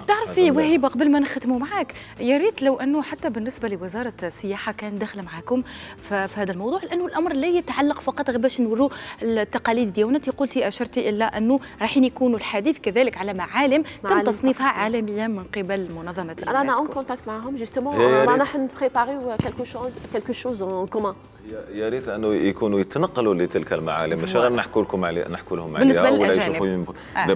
تعرفي وهبه قبل ما نختموا معاك، يا ريت لو انه حتى بالنسبه لوزاره السياحه كان داخله معكم في هذا الموضوع، لانه الامر لا يتعلق فقط غير باش نوروا التقاليد ديالنا. انت قلتي اشرتي الى انه رايحين يكونوا الحديث كذلك على معالم تم تصنيفها عالميا من قبل منظمه اليونسكو. انا اون كونتاكت معهم جوستومون، رانا نبريباريو كالكو شوز كالكو شوز اون كومان. يا ريت انه يكونوا يتنقلوا لتلك المعالم، مش غير نحكوا لكم عليه نحكوا لهم عليها ولا يشوفوا دي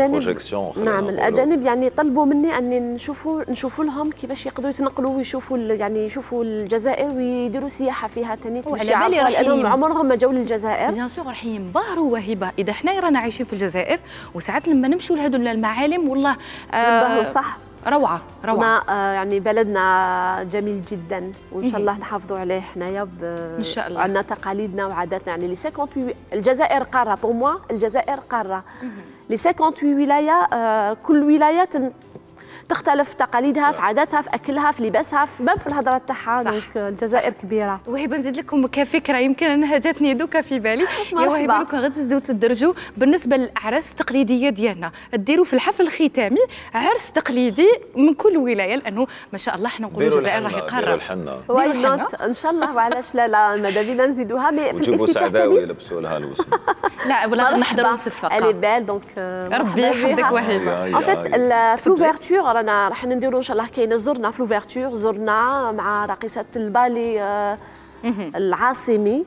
بروجيكسيون. نعم الاجانب يعني طلبوا مني اني نشوفوا نشوفوا لهم كيفاش يقدروا يتنقلوا ويشوفوا يعني يشوفوا الجزائر ويديروا سياحه فيها ثاني، على بالي لانهم عمرهم ما جاوا للجزائر. بيان سور راح ينبهروا وهبه اذا حنا رانا عايشين في الجزائر وساعات لما نمشوا لهذو المعالم والله ينبهروا. صح روعه روعه. آه يعني بلدنا جميل جدا وان شاء الله نحافظوا عليه حنايا ان شاء الله. عندنا تقاليدنا وعاداتنا يعني لي ثمانية وثمانين الجزائر قاره بور موا، الجزائر قاره لي ثمانية وثمانين ولايه. آه كل ولايه تختلف تقاليدها في عاداتها في اكلها في لباسها في باب في الهضره تاعها. دونك الجزائر كبيره. وهبه نزيد لكم كفكره يمكن انها جاتني دوكا في بالي يا وهبه، لو كان غتزيدوا تدرجوا بالنسبه للاعراس التقليديه ديالنا ديروا في الحفل الختامي عرس تقليدي من كل ولايه، لانه ما شاء الله حنا نقولوا الجزائر راهي قاره. ديروا الحنه واي نوت ان شاء الله وعلاش لا لا ماذا بينا نزيدوها. مي في الافتتاح الثاني يلبسوا لها الوسم. لا ولا نحضروا نصفقه الي بال دونك ربي يحفظك وهبه. ان فيت في لوفيرتور رانا راح نديروا ان شاء الله كاينه زرنا في لوفيرتور زرنا مع راقصه البالي العاصمي.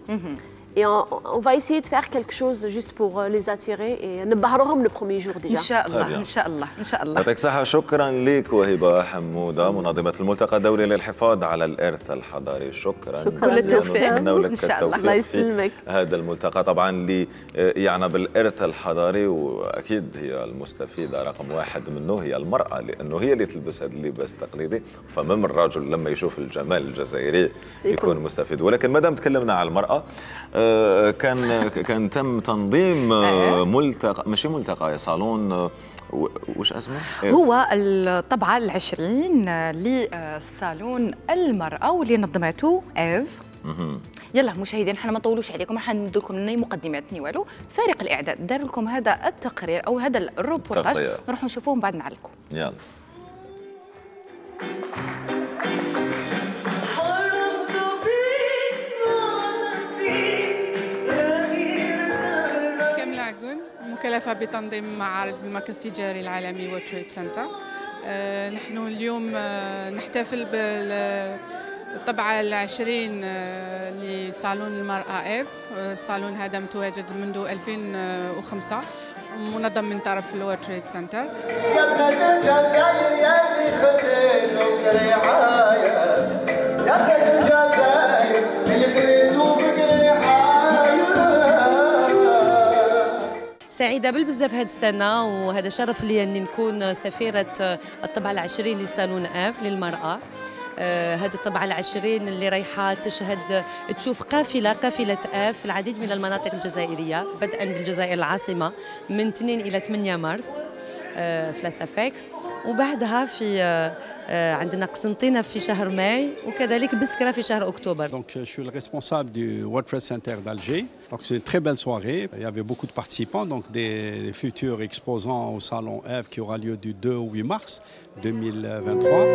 Et on, on va essayer de faire quelque chose juste pour les attirer et نبهرهم le premier jour déjà. ان شاء الله ان شاء الله ان شاء الله. يعطيك الصحة. شكرا لك وهبة حمودة منظمة الملتقى الدولي للحفاظ على الإرث الحضاري. شكرا. كل التوفيق ان شاء الله. الله يسلمك. هذا الملتقى طبعا اللي يعنى بالإرث الحضاري، واكيد هي المستفيدة رقم واحد منه هي المرأة، لانه هي اللي تلبس هذا اللباس التقليدي، فمن الرجل لما يشوف الجمال الجزائري يكون مستفيد. ولكن ما دام تكلمنا على المرأة، كان كان تم تنظيم ملتقى، ماشي ملتقى، صالون، وش اسمه؟ هو الطبعة العشرين لصالون المرأة واللي نظمته إيف. يلا مشاهدين حنا ما نطولوش عليكم، راح ندير لكم ني مقدمات ني والو. فريق الإعداد دار لكم هذا التقرير أو هذا الروبورتاج، نروحوا نشوفوه من بعد نعلقوا. يلا. مكلفة بتنظيم معارض المركز التجاري العالمي وورلد تريد سنتر. آه نحن اليوم آه نحتفل بالطبعة العشرين آه لصالون المرأة إيف. الصالون هذا متواجد منذ ألفين وخمسة منظم من طرف الوورلد تريد سنتر. سعيدة بالبزاف هذه السنة، وهذا شرف لي أني نكون سفيرة الطبعة العشرين لصالون إيف للمرأة. آه هذه الطبعة العشرين اللي رايحة تشهد تشوف قافلة قافلة إيف في العديد من المناطق الجزائرية، بدءا بالجزائر العاصمة من اثنين إلى ثمانية مارس آه في لاسافيكس، وبعدها في آه عندنا قسنطينة في شهر ماي، وكذلك بسكرة في شهر أكتوبر. Donc je suis le responsable du World Trade Center d'Alger. Donc c'est une très belle soirée. Il y avait beaucoup de participants, donc des futurs exposants au salon Ève qui aura lieu du deux au huit mars deux mille vingt-trois.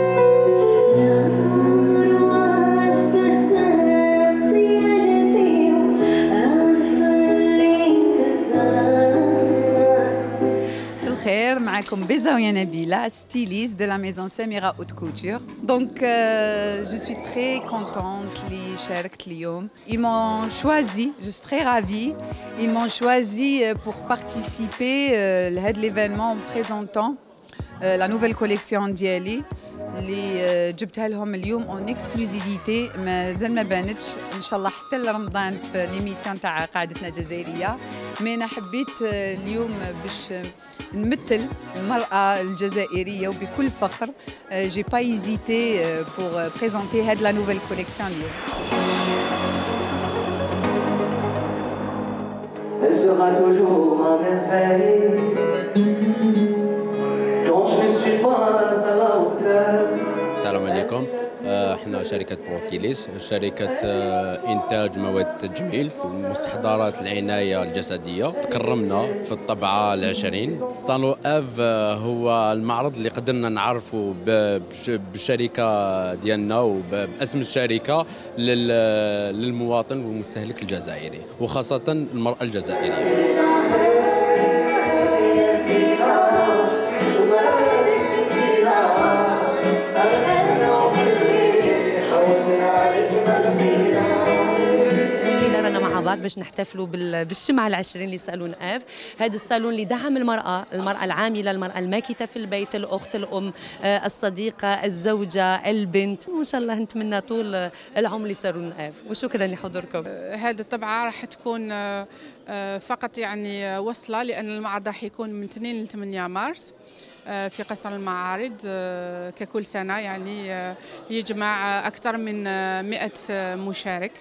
خير معكم بزاوية نبيلة styliste de la maison Samira Haute Couture. Donc euh, je suis très contente اللي شاركت اليوم. Ils m'ont choisi, je suis très ravie. Ils m'ont choisi pour participer à euh, l'événement en présentant لا نوفيل كوليكسيون ديالي اللي جبتها لهم اليوم اون اكسكلوزيفيتي مازال ما بانتش ان شاء الله حتى لرمضان في ليميسيون تاع قاعدتنا الجزائريه. مي انا حبيت اليوم باش نمثل المراه الجزائريه وبكل فخر. جي با ايزيتي بور بريزونتي هاد لا نوفيل كوليكسيون اليوم. Elle sera toujours ma merveille quand je ne suis pas à la hauteur. السلام عليكم. احنا شركة بروتيليس، شركة إنتاج مواد التجميل ومستحضرات العناية الجسدية. تكرمنا في الطبعة العشرين. صالون اف هو المعرض اللي قدرنا نعرفه بالشركة ديالنا وباسم الشركة للمواطن والمستهلك الجزائري وخاصة المرأة الجزائرية. بعض باش نحتفلوا بالشمعة العشرين لصالون اف. هذا الصالون اللي دعم المرأة، المرأة العاملة، المرأة الماكثة في البيت، الأخت، الأم، الصديقة، الزوجة، البنت. وإن شاء الله نتمنى طول العمر لصالون اف، وشكرا لحضوركم. هذه الطبعة راح تكون فقط يعني وصلة، لأن المعرض راح يكون من اثنين ل ثمانية مارس في قصر المعارض ككل سنة، يعني يجمع أكثر من مئة مشارك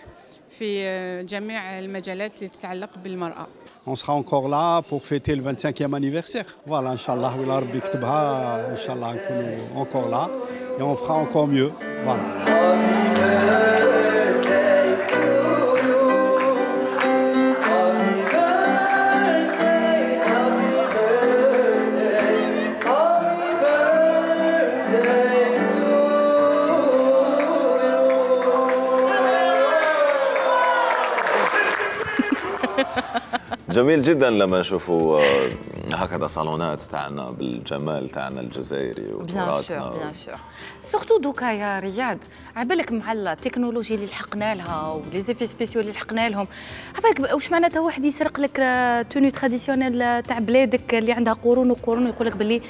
في جميع المجالات اللي تتعلق بالمرأة. On sera encore là pour fêter le vingt-cinquième anniversaire. Voilà, Inch'Allah, ولا ربي يكتبها، إن شاء الله نكونوا encore là et on fera encore mieux. Voilà. جميل جدا لما نشوفوا هكذا صالونات تاعنا بالجمال تاعنا الجزائري وتراثنا. بيان سور سورتو دوكا يا رياض، عبالك مع التكنولوجيا اللي لحقنا لها ولي زيفي سبيسيو اللي لحقنا لهم، عبالك واش معناتها واحد يسرق لك توني تراديسيونيل تاع بلادك اللي عندها قرون وقرون ويقول لك باللي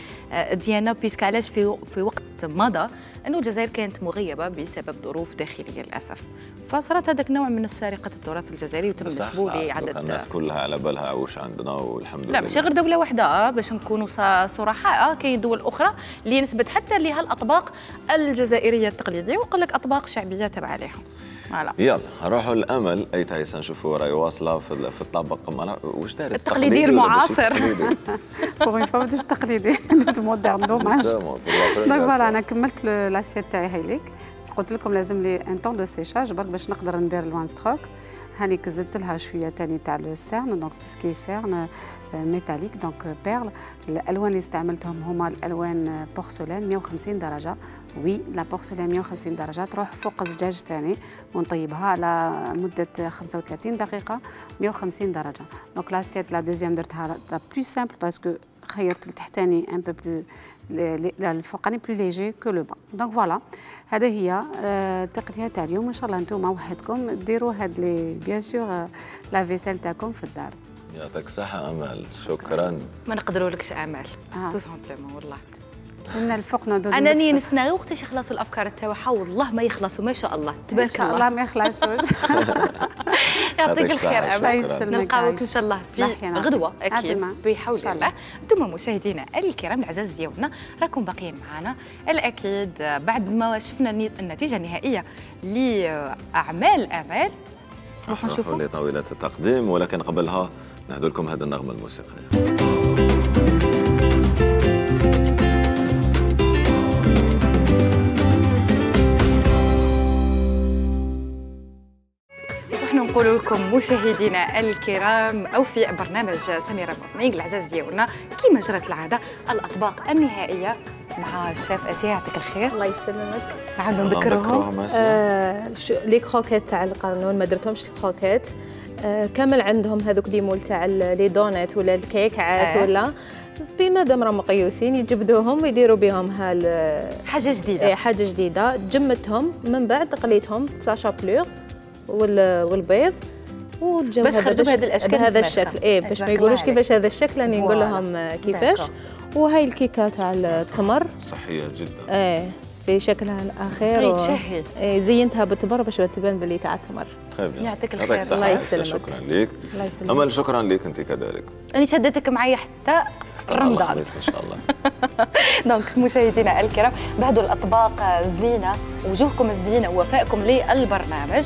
ديانا بيسك علاش في في وقت مضى انه الجزائر كانت مغيبه بسبب ظروف داخليه للاسف، فصارت هذاك نوع من سرقه التراث الجزائري وتم نسبوا لعدد. الناس كلها على بالها واش عندنا والحمد لله. لا ماشي غير دوله واحده، باش نكونوا صراحه كاين دول اخرى اللي نثبت حتى لها الاطباق الجزائريه التقليديه ويقول لك اطباق شعبيه تبع عليها. فوالا يلا نروحوا للامل. اي تعيسه نشوفوا راهي واصله في في الطبق واش دارت التقليدي المعاصر. بوغ اون فوا ماشي تقليدي دوت مودرن دوماج. دونك فوالا انا كملت لاسيت تاعي هايليك، قلت لكم لازم لي ان طون دو سيشاج برك باش نقدر ندير الوان ستروك. هاني زدت لها شويه ثاني تاع لو سيرن، دونك تو سكي سيرن ميتاليك دونك بيرل. الالوان اللي استعملتهم هما الالوان بورسلان مئة وخمسين درجه. وي لا بورسلان مئة وخمسين درجه تروح فوق الزجاج ثاني ونطيبها على مده خمسة وثلاثين دقيقه مئة وخمسين درجه. دونك لاسيت لا دوزيام درتها لا بلو سامبل باسكو خيرت التحتاني ان بو بلو الفوقاني بلو ليجي كو لو با. دونك فوالا هذا هي التقنيه تاع اليوم. ان شاء الله انتم وحدكم ديروا هاد لي بيان سور لا فيسيل تاعكم في الدار. يعطيك الصحه امال، شكرا. ما نقدرولكش امال تو سامبلومون والله. من الفوق نضرب انني نسناغي وقتاش يخلصوا الافكار تاعها والله ما يخلصوا ما شاء الله تبارك الله. الله ما يخلصوش. يعطيك الخير امال، نلقاوك ان شاء الله في غدوه اكيد بحول الله. انتم مشاهدينا الكرام العزاز ديالنا راكم باقيين معنا الاكيد بعد ما شفنا النتيجه النهائيه لاعمال امال راح نشوفوا لطاوله التقديم، ولكن قبلها نهدوا لكم هذه النغمه الموسيقيه. نقول لكم مشاهدينا الكرام او في برنامج سميرة مورنينغ العزاز ديالنا كما جرت العاده الاطباق النهائيه مع الشيف اسيا. يعطيك الخير. الله يسلمك. نعاودوا نذكرهم آه لي كروكيت تاع القرنون ما درتهمش لي كروكيت آه كامل عندهم هذوك لي مول تاع لي دونات ولا الكيكات آه. ولا بما دام راهم مقيوسين يجبدوهم ويديروا بهم هال حاجه جديده. حاجه جديده جمدتهم من بعد قليتهم في لا شابلور والبيض وتجاو باش خرجوا بهذه الاشكال بهذا الشكل ايه باش ما يقولوش كيفاش هذا الشكل راني نقول لهم كيفاش. وهاي الكيكه تاع التمر صحيه جدا ايه في شكلها الاخير و... إيه زينتها بالتمر باش تبان باللي تاع التمر. يعطيك الخير. الله يسلمك. شكرا لك. الله يسلمك. امل شكرا لك انت كذلك. انا شدتك معي حتى رمضان الخميس ان شاء الله. دونك مشاهدينا الكرام بعدوا الاطباق الزينه وجوهكم الزينه ووفائكم للبرنامج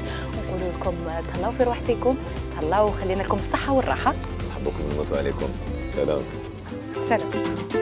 ونقول لكم تهلاو في روحتكم تهلاو وخلينا لكم الصحه والراحه. نحبكم ونموتوا عليكم. سلام. سلام.